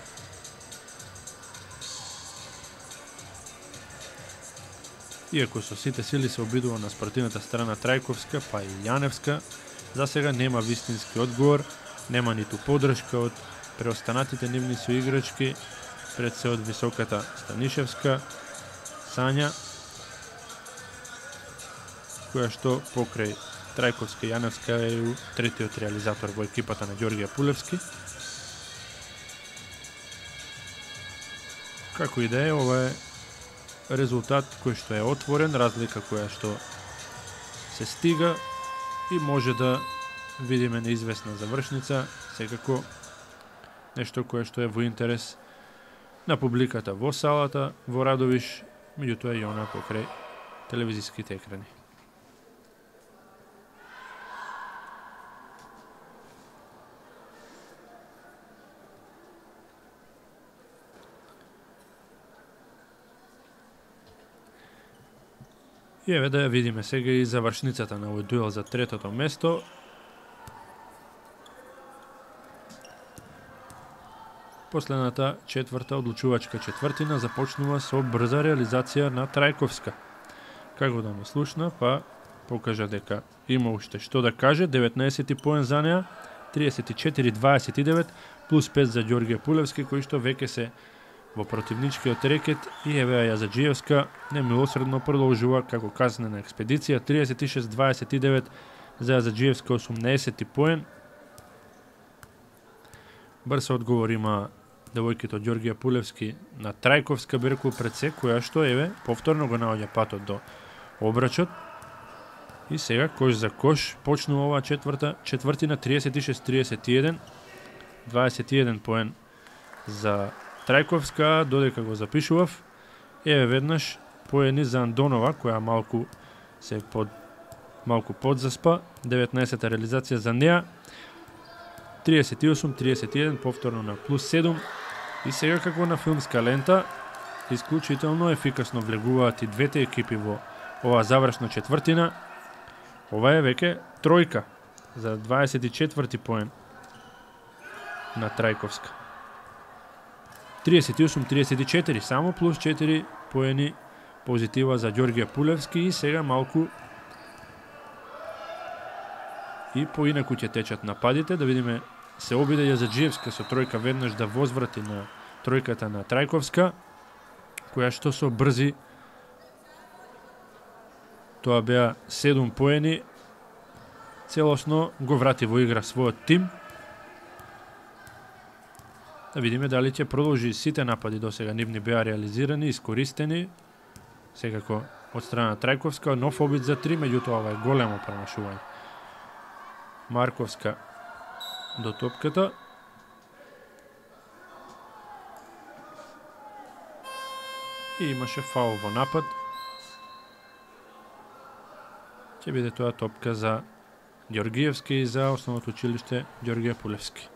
Иако со сите сили се обидува на спортивната страна Трајковска, па и Јаневска, за сега нема вистински одговор, нема ниту подршка од преостанатите нивни соиграчки, пред се од високата Станишевска, Сања, која што покрај Трајковска и Јаневска е третиот реализатор во екипата на Ѓорѓија Пулевски. Како и да е, ова е резултат кој што е отворен, разлика која што се стига и може да видиме неизвестна завршница, секако нешто кое што е во интерес на публиката во салата, во Радовиш, меѓутоа и она покрај телевизиските екрани. И еве да ја видиме сега и завршницата на овој дуел за третото место. Последната четврта одлучувачка четвртина започнува со брза реализација на Трајковска. Како да не слушна, па покажа дека има уште што да каже. 19 поен за неа, 34-29, плюс 5 за Ѓорѓе Пулевски, кој што веќе се во противничкиот рекет, и еве Јазаджиевска немилосредно продолжува како казнена експедиција. 36-29 за Јазаджиевска, 80 поен. Брз одговор има девојките од Ѓорѓија Пулевски на Трајковска Берку пред се, која што еве повторно го наоѓа патот до обрачот. И сега кош за кош почнува оваа четвртина, 36-31, 21 поен за Трајковска, додека го запишував. Еве веднаш поени за Андонова, која малку подзаспа, 19-та реализација за неа. 38-31, повторно на плюс 7. И сега како на филмска лента, исклучително ефикасно влегуваат и двете екипи во оваа завршна четвртина. Ова е веќе тројка за 24 поен на Трајковска. 38-34, само плюс 4 поени позитива за Ѓорѓија Пулевски, и сега малку и поинаку ќе течат нападите. Да видиме, се обиде Јазаджиевска со тројка веднаш да возврати на тројката на Трајковска, која што со брзи, тоа беа 7 поени, целосно го врати во игра својот тим. Да видиме дали ќе продолжи сите напади до сега нивни беа реализирани, искористени, секако од страна Трајковска, нов обид за 3, меѓутоа ова е големо промашување. Марковска до топката. И имаше фаул во напад. ќе биде тоа топка за Ѓоргиевски и за основното училиште Ѓоргија Пулевски.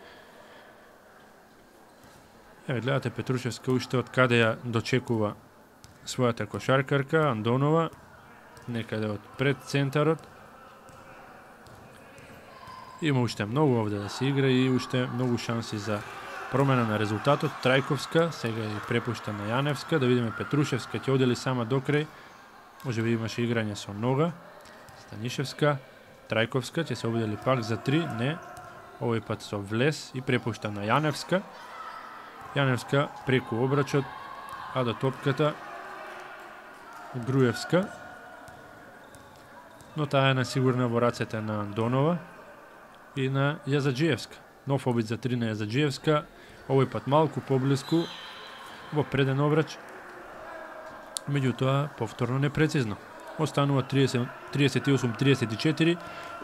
Еве гледате Петрушевска уште од каде ја дочекува својата кошаркарка Андонова, некаде од пред центарот. Има уште многу овде да се игра и уште многу шанси за промена на резултатот. Трајковска сега ја препушта на Јаневска, да видиме Петрушевска ќе одели сама до крај. Може би имаше играње со нога. Станишевска, Трајковска ќе се обидели пак за 3, не. Овој пат со влез и препушта на Јаневска. Јаневска преку обрачот, а до топката Груевска. Но таа е насигурна во рацете на Андонова и на Јазаджиевска. Нов обид за 3 на Јазаджиевска, овој пат малку поблиску во преден обрач. Меѓутоа повторно непрецизно. Останува 38-34.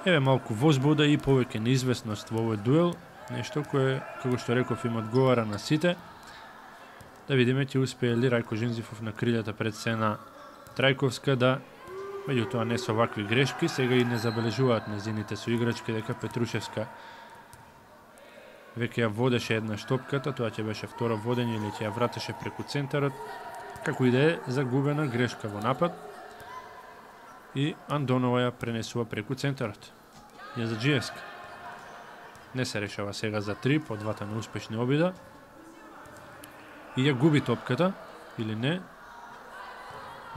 Еве малку возбуда и повеќе неизвестност во овој дуел. Нешто кое, како што реков, им одговара на сите. Да видиме ќе успее ли Рајко Жинзифов на крилјата пред се на Трајковска да, меѓутоа не со вакви грешки, сега и не забележуваат незините соиграчки дека Петрушевска веќе ја водеше еднаш топката, тоа ќе беше второ водење или ќе ја вратеше преку центарот, како и да е загубена грешка во напад. И Андонова ја пренесува преку центарот. Јазаджиевска не се решава сега за 3 по двата неуспешни обида. И ја губи топката, или не.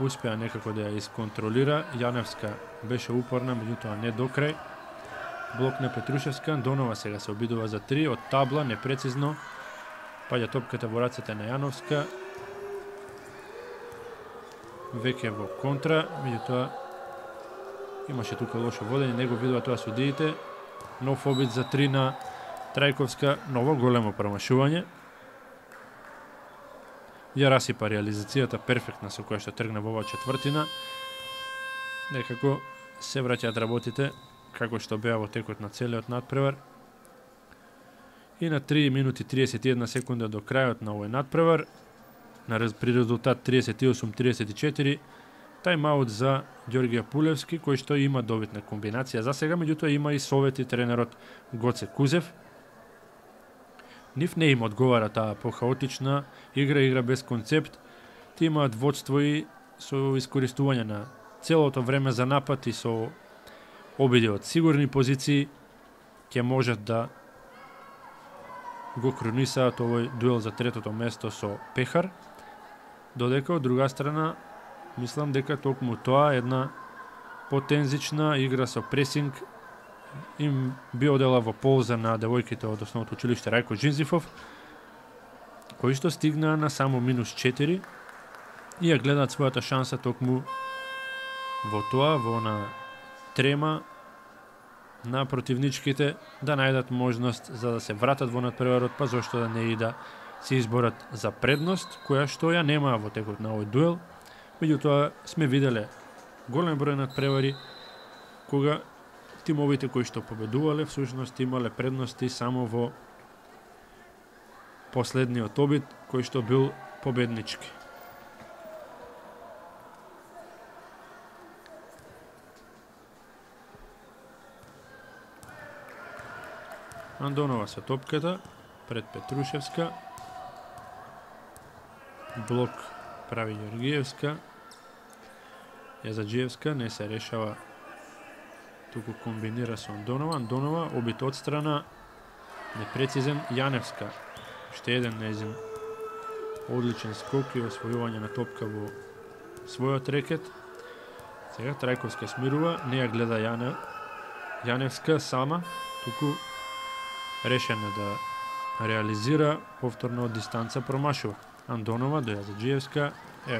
Успеа некако да ја исконтролира. Јаневска беше упорна, меѓутоа не до крај. Блок на Петрушевска, Андонова сега се обидува за 3 од табла, непрецизно. Паѓа топката во рацете на Јановска. Веќе во контра, меѓутоа имаше тука лошо водење, него видува тоа судиите. Нов обид за 3 на Трајковска, ново големо промашување. Ја расипа реализацијата перфектна со која што тргна во оваа четвртина. Некако се враќаат работите како што беа во текот на целиот надпревар. И на 3 минути 31 секунда до крајот на овој надпревар, при резултат 38-34, тајмаут за Ѓоргија Пулевски, кој што има добитна комбинација за сега, меѓутоа има и совети тренерот Гоце Кузев. Нив не им одговара таа похаотична игра без концепт. Ти имаат водство и со искористување на целото време за напад и со обиди од сигурни позиции ќе можат да го кронисаат овој дуел за третото место со Пехар. Додека од друга страна мислам дека токму тоа една потензична игра со пресинг им би одела во полза на девојките од основното училиште Рајко Жинзифов, кои што стигнаа на само -4 и ја гледаат својата шанса токму во тоа, во на трема на противничките да најдат можност за да се вратат во надпреварот, па зошто да не и да се изборат за предност, која што ја немаа во текот на овој дуел. Меѓутоа сме виделе голем број надпревари кога тимовите кои што победувале всушност имале предности само во последниот обид кој што бил победнички. Андонова со топката пред Петрушевска. Блок прави Ѓоргиевска. Јазаджиевска не се решава, туку комбинира со Андонова. Андонова обид од страна, непрецизен. Јаневска, уште еден незин одличен скок и освојување на топка во својот рекет. Сега Трајковска смирува, не ја гледа Јаневска сама, туку решена да реализира, повторно од дистанца промашува. Андонова до Јазаджиевска,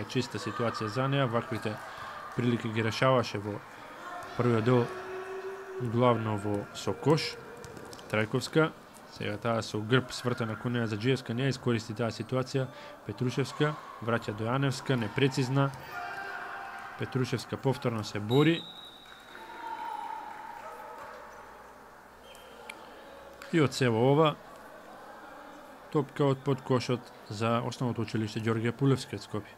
чиста ситуација за неа, ваквите прилики ги решаваше во првиот дел главно во сокош. Трајковска, сега таа со грб свртена кон Јазаджиевска, не искористи таа ситуација. Петрушевска враќа до Јаневска, непрецизна. Петрушевска повторно се бори. И од сево ова, топка од под кошот за основното училиште Ѓоргија Пулевски од Скопје.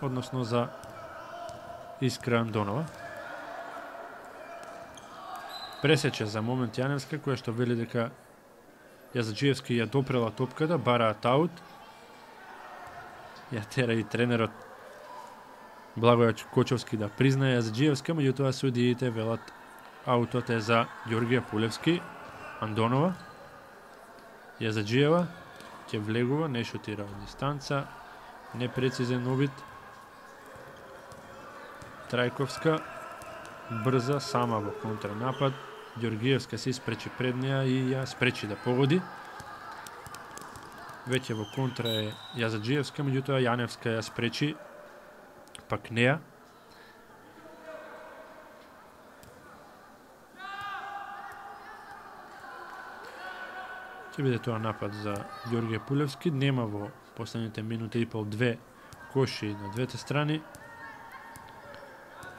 Односно за Искра Андонова. пресече за момент Јаневска, која што вели дека Јазаджиевски ја допрела топката, бараат аут. Ја тера и тренерот Благоје Кочовски да признае Јазаджиевска, меѓутоа судиите велат аутот е за Ѓоргија Пулевски. Андонова, Јазаджиева ќе влегува, не шутира од дистанца, непрецизен обид. Трајковска брза сама во контранапад. Ѓоргиевска се испречи пред неа и ја спречи да погоди. Веќе во контра е Јазаджиевска, меѓутоа Јаневска ја спречи пак неа. Ќе биде тоа напад за Ѓоргија Пулевски. Нема во последните минути и пол 2 коши на двете страни,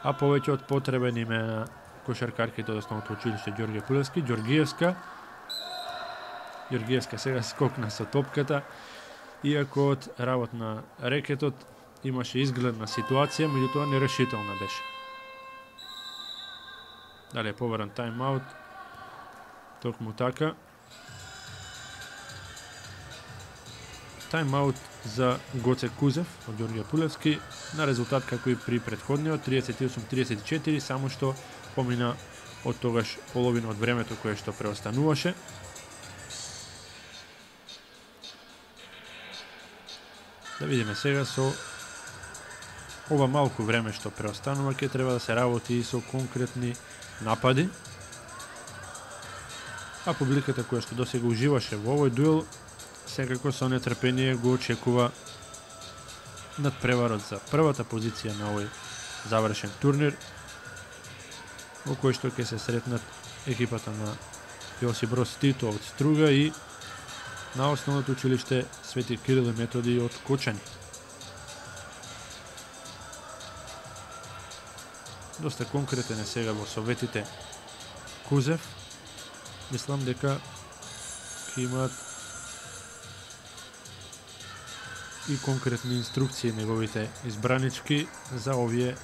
а повеќе од потребен име на кошаркарките од основното училиште Ѓоргија Пулевски. Ѓоргиевска сега скокна со топката, иако од работ на рекетот имаше изгледна ситуација, меѓутоа нерешителна беше. Дали е побаран тайм-аут? Токму така. Тайм-аут за Гоце Кузев од Ѓоргија Пулевски на резултат како и при претходниот 38-34, само што помина од тогаш половина од времето кое што преостануваше. Да видиме сега со ова малку време што преостанува, ќе треба да се работи и со конкретни напади. А публиката која што досега уживаше во овој дуел секако со нетрпение го очекува надпреварот за првата позиција на овој завршен турнир, во кој што ќе се сретнат екипата на Јосип Брос Тито од Струга и на основното училиште Свети Кирил и Методи од Кочани. Доста конкретен е сега во советите Кузев. Мислам дека ќе имаат и конкретни инструкции неговите избранички за овие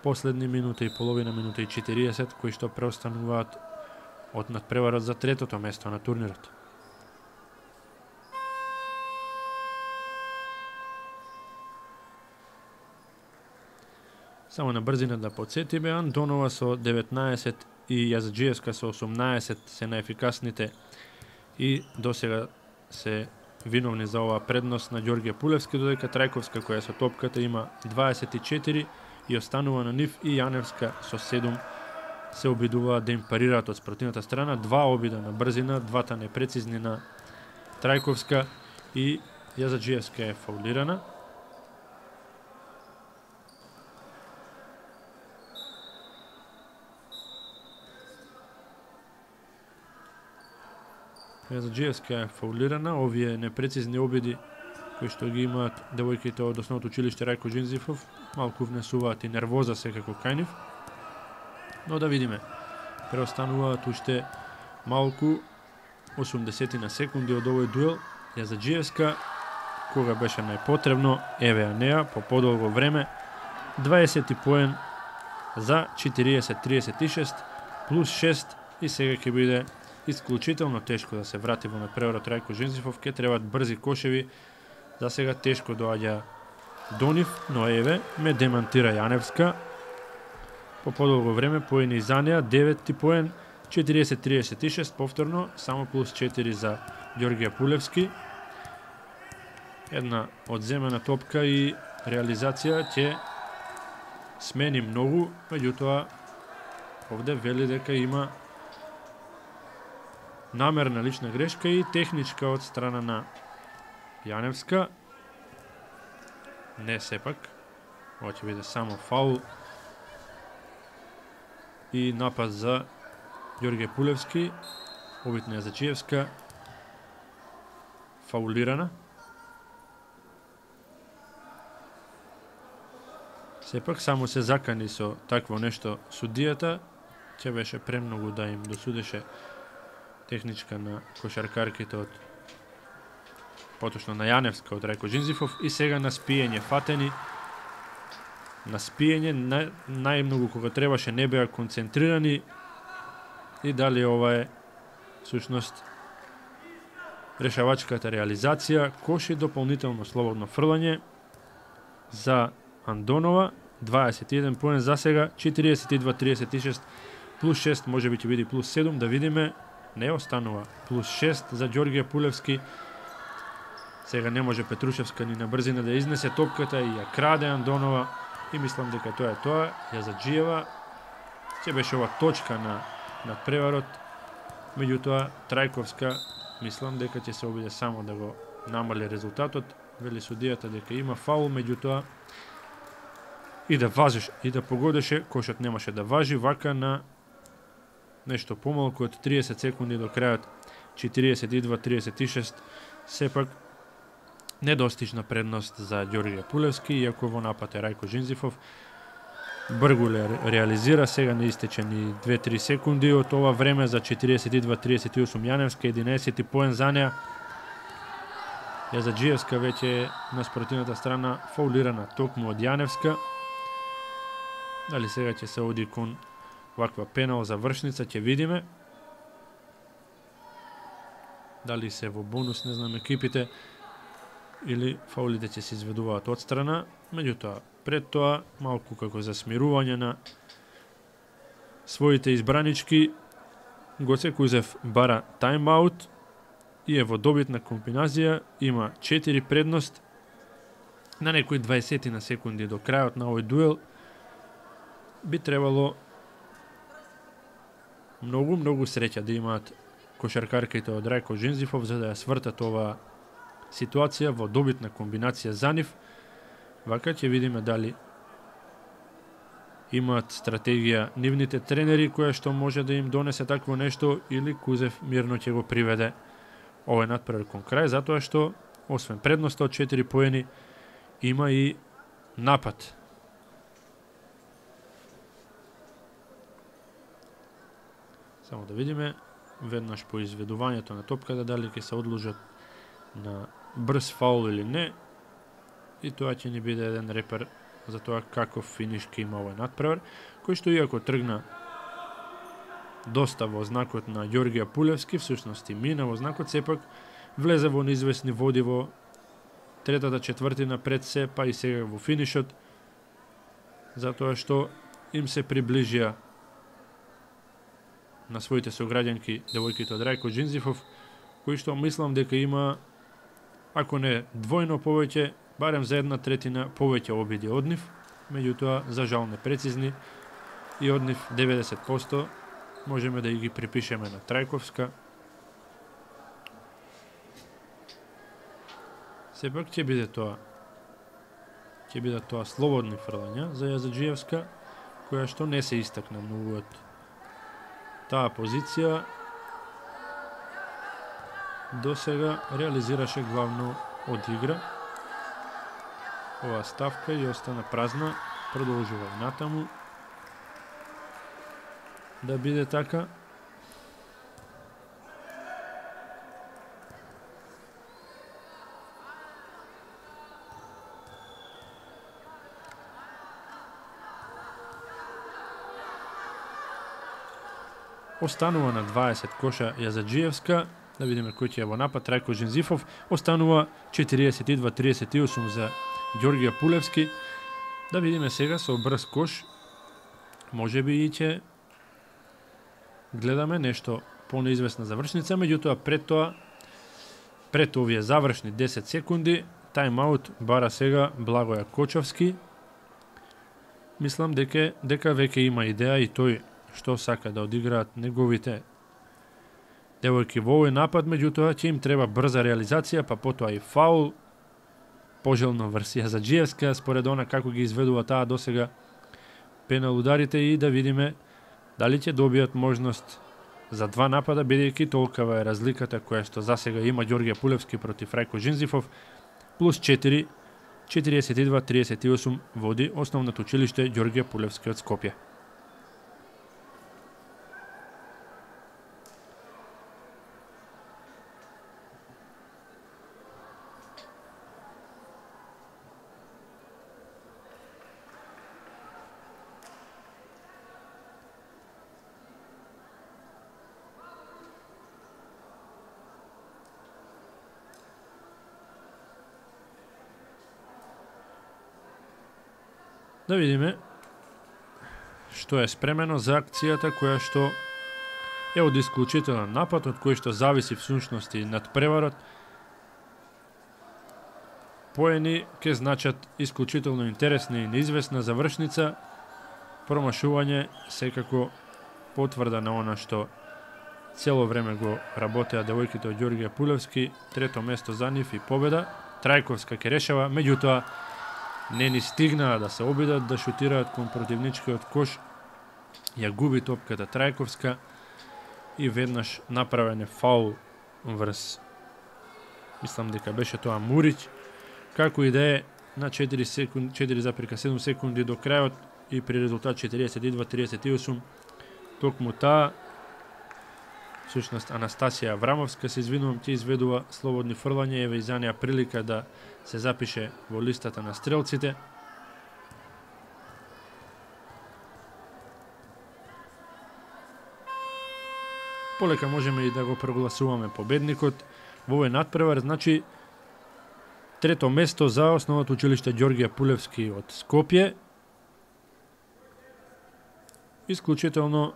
последни минута и половина, минута и 40, кои што преостануваат од надпреварот за третото место на турнирот. Само на брзина да подсетиме, Андонова со 19 и Јазаджиевска со 18 се најефикасните и досега се виновни за оваа предност на Ѓоргија Пулевски, додека Трајковска која со топката има 24 и останува на нив, и Јаневска со 7 се обидуваат да им парираат од спротивната страна. Два обида на брзина, двата непрецизни на Трајковска, и Јазаджиевска е фаулирана. Јазаджиевска е фаулирана. Овие непрецизни обиди кои што ги имаат девојките од основното училиште Рајко Джинзифов малку внесуваат и нервоза секако кај нив. Но да видиме. Преостануваат уште малку 80 на секунди од овој дуел. Јазаджиевска, кога беше најпотребно, еве ја неа по подолго време, 20 поен за 40-36 плюс 6, и сега ќе биде исклучително тешко да се врати во надпреварот Рајко Жензифов. Ке требаат брзи кошеви. За сега тешко доаѓа до нив, но еве ме демантира Јаневска. По подолго време поени за неа, 9 поен, 40-36 повторно, само плюс 4 за Ѓоргија Пулевски. Една одземена топка и реализација ќе смени многу, меѓутоа овде вели дека има намерна лична грешка и техничка од страна на Јаневска. Не сепак. Ова ќе биде само фаул и напад за Ѓоргија Пулевски. Обид на Јазаджиевска фаулирана. Сепак само се закани со такво нешто судијата. Ќе беше премногу да им досудеше техничка на кошаркарките од поточно на Јаневска од Рајко Джинзифов, и сега на спиење фатени. На спиење најмногу кога требаше не беа концентрирани и дали ова е всушност решавачката реализација. Кош и дополнително слободно фрлање за Андонова, 21 поен за сега, 42-36 плюс 6, може би ќе биде плюс 7, да видиме. Не останува плюс 6 за Ѓорѓе Пулевски. Сега не може Петрушевска ни на брзина да изнесе топката и ја краде Андонова и мислам дека тоа е тоа. Јазаджиева ќе беше ова точка на преварот. Меѓутоа Трајковска мислам дека ќе се обиде само да го намали резултатот. Вели судијата дека има фаул, меѓутоа и да важиш и да погодеше, кошот немаше да важи. Вака на нешто помалку од 30 секунди до крајот, 42-36, сепак недостижна предност за Ѓорѓе Пулевски, иако во напад е Рајко Жинзифов. Бргуле реализира, сега не истече ни 2-3 секунди од ова време за 42-38 Јаневска, 11 поен за неа. Јазаджиевска веќе на спротивната страна фаулирана токму од Јаневска. Дали сега ќе се оди кон ваква пенал за вршница, ќе видиме. Дали се во бонус, не знам, екипите, или фаулите ќе се изведуваат од страна. Меѓутоа, пред тоа, малку како за смирување на своите избранички, Гоце Кузев бара тайм-аут и е во добитна комбинација, има 4 предност на некои 20 на секунди до крајот на овој дуел. Би требало многу среќа да имаат кошаркарките од Рајко Жинзифов за да ја свртат ова ситуација во добитна комбинација за нив. Вака ќе видиме дали имаат стратегија нивните тренери која што може да им донесе такво нешто или Кузев мирно ќе го приведе овој натпревар кон крај, затоа што освен предноста од 4 поени има и напад. Само да видиме веднаш по изведувањето на топката дали ќе се одложат на брз фаул или не. И тоа ќе ни биде еден репер за тоа каков финиш ќе има овој натпревар, кој што иако тргна доста во знакот на Ѓорѓе Пулевски, всушност и мина во знакот, сепак влезе во неизвестни води во третата четвртина пред се, па и сега во финишот, затоа што им се приближија на своите сограѓанки девојките од Рајко Жинзифов, кои што мислам дека има, ако не двојно повеќе, барем за 1/3 повеќе обиди од нив, меѓутоа за жал непрецизни и од нив 90% можеме да ги припишеме на Трајковска. Сепак ќе биде тоа слободни фрлања за Јазаджиевска, која што не се истакна многу од таа позиција. До сега реализираше главно од игра. Ова ставка и остана празна, продолжува и натаму да биде така. Останува на 20 коша Јазаджиевска. Да видиме кој ќе е во напад. Рајко Жинзифов. Останува 42-38 за Ѓорѓе Пулевски. Да видиме сега со брз кош. Може би и ќе гледаме нешто по-неизвестна завршница, меѓутоа пред овие завршни 10 секунди, тайм-аут бара сега Благоја Кочовски. Мислам дека веќе има идеја и тој што сака да одиграат неговите девојки во овој напад, меѓутоа ќе им треба брза реализација, па потоа и фаул. Пожелно врз Јазаджиевска, според она како ги изведува таа досега пенал ударите, и да видиме дали ќе добијат можност за два напада, бидејќи толкова е разликата која што засега има Ѓорѓе Пулевски против Рајко Жинзифов, плюс 4, 42-38 води основното училиште Ѓорѓе Пулевски од Скопје. Да видиме што е спремено за акцијата која што е од исклучителен напад, од кој што зависи всушност и надпреварот. Поени ке значат исклучително интересна и неизвестна завршница, промашување секако потврда на она што цело време го работеа девојките од Ѓорѓе Пулевски. Трето место за нив и победа. Трајковска ке решава, меѓутоа не ни стигнаа да се обидат да шутираат кон противничкиот кош. Ја губи топката Трајковска и веднаш направен е фаул врз, мислам дека беше тоа Мурич, како и да е на 4,7 секунди до крајот и при резултат 42-38 токму таа, всушност Анастасија Аврамовска, се извинувам, ќе изведува слободни фрлања, еве и за неа прилика да се запише во листата на стрелците. Полека можеме и да го прогласуваме победникот во овој надпревар, значи трето место за основното училиште Ѓорѓе Пулевски од Скопје. Исклучително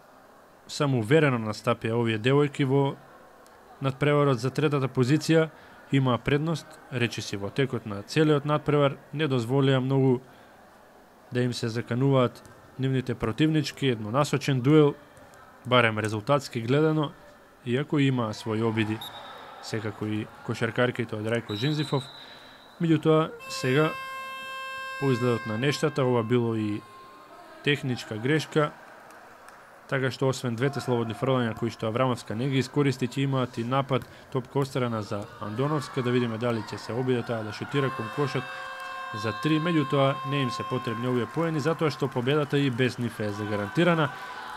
самоуверено настапија овие девојки во надпреварот за третата позиција, имаа предност, речиси во текот на целиот надпревар, не дозволија многу да им се закануваат нивните противнички, еднонасочен дуел, барем резултатски гледано, иако имаа своји обиди, секако и кошаркарките од Рајко Жинзифов. Меѓутоа, сега, по изгледот на нештата, ова било и техничка грешка, така што освен двете слободни фрлања кои што Аврамовска не ги искористи, ќе имаат и напад топка острана за Андоновска, да видиме дали ќе се обиде таа да шутира кон кошот за 3, меѓутоа не им се потребни овие поени, затоа што победата и без нив е загарантирана.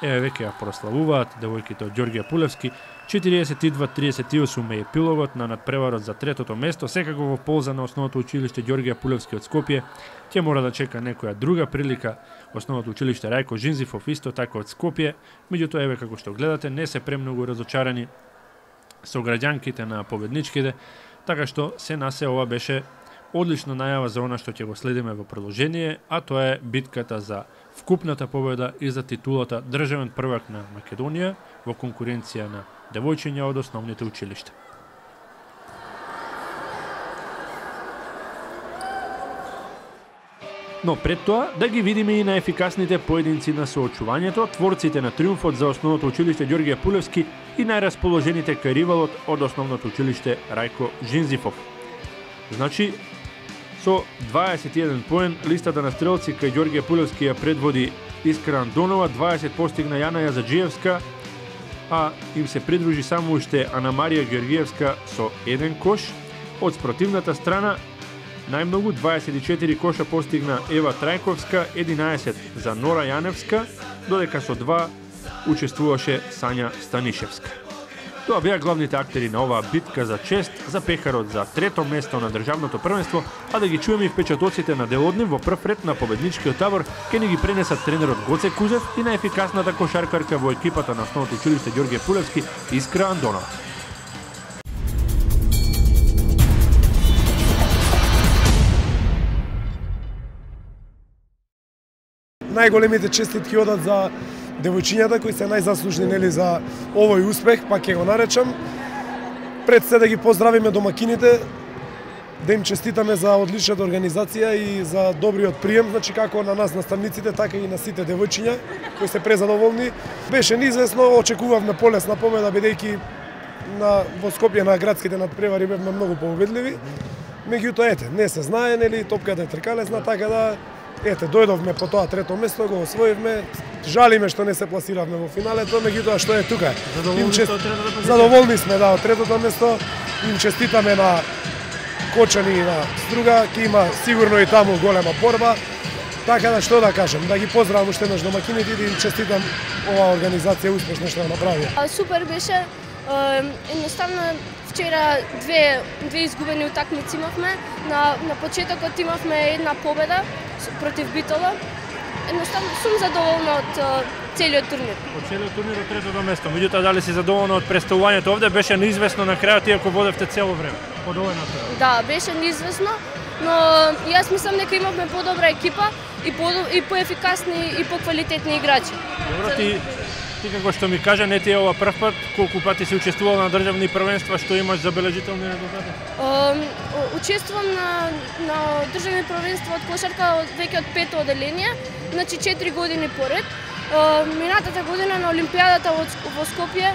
Еве веќе ја прославуваат девојките од Ѓорѓе Пулевски. 42-38 е епилогот на надпреварот за третото место, секако во полза на основното училиште Ѓорѓе Пулевски од Скопје. Ќе мора да чека некоја друга прилика, основното училиште Рајко Жинзифов исто така од Скопје. Меѓутоа, еве како што гледате, не се премногу разочарани со граѓанките на победничките, така што се насе ова беше одлична најава за она што ќе го следиме во продолжение, а тоа е битката за вкупната победа и за титулата државен првак на Македонија во конкуренција на девојчиња од основните училишта. Но пред тоа да ги видиме и на ефикасните поединци на соочувањето, творците на триумфот за основното училиште Ѓорѓе Пулевски и најрасположените кај ривалот од основното училиште Рајко Жинзифов. Значи, со 21 поен, листата на стрелци кај Ѓорѓе Пулевски ја предводи Искра Андонова, 20 постигна Јана Јазаджиевска, а им се придружи само уште Ана Марија Георгиевска со 1 кош. Од спротивната страна, најмногу 24 коша постигна Ева Трајковска, 11 за Нора Јаневска, додека со 2 учествуваше Сања Станишевска. Тоа беа главните актери на оваа битка за чест за пехарот за трето место на државното првенство, а да ги чуеме и впечатоците на делоднив во прв ред на победничкиот табор ке ни ги пренесат тренерот Гоце Кузев и на ефикасната кошаркарка во екипата на основното училиште Ѓорѓе Пулевски Искра Андонова. Најголемите честитки одат за девојчињата кои се најзаслужни нели за овој успех, па ќе го наречам. Пред се да ги поздравиме домакините, да им честитаме за одличната организација и за добриот прием, значи како на нас наставниците, така и на сите девојчиња кои се презадоволни. Беше неизвестно, очекувавме полесна победа бидејќи во Скопје на градските надпревари бевме многу победливи. Меѓутоа ете, не се знае нели топката е тркалесна, така да ете, дојдовме по тоа трето место, го освоивме. Жалиме што не се пласиравме во финалето, меѓутоа што е тука. Задоволни сме од третото место. Им честитаме на Кочани и на Струга, ќе има сигурно и таму голема борба. Така да што да кажем, да ги поздравам уште еднаш домакините и да им честитам оваа организација успешно што ја направија. Супер беше. Едноставно вчера две изгубени утакмици имавме. На почетокот имавме една победа против Битола. Едноставно сум задоволна од целиот турнир. Од целиот турнир од третото место. Меѓутоа, дали си задоволна од представувањето овде? Беше неизвестно на крајот, иако водевте цело време. Од овој натпревар. Да, беше неизвестно. но јас мислам дека имавме подобра екипа и поефикасни и поквалитетни играчи. Добро, ти како што ми кажа, не ти е ова прв пат, колку пати си учествувал на државни првенства, што имаш забележителни резултати? Учествувам на државни првенства од кошарка веќе од 5-то одделение, значи 4 години поред. Минатата година на Олимпијадата во Скопје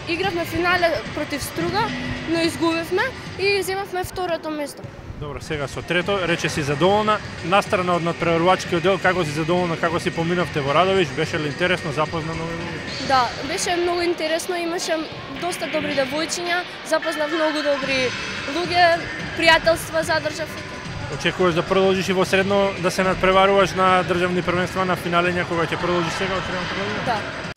игравме финале против Струга, но изгубивме и земавме второто место. Добро, сега со трето, рече си задоволна. Настрана од надпреварувачкиот дел, како си задоволна, како си поминавте во Радовиш, беше ли интересно, запозна нови луѓе? Да, беше многу интересно, имаше доста добри девојчиња, запознав многу добри луѓе, пријателства задржав. Очекуваш да продолжиш и во средно да се надпреваруваш на државни првенства на финале, кога ќе продолжиш сега од средното година? Да.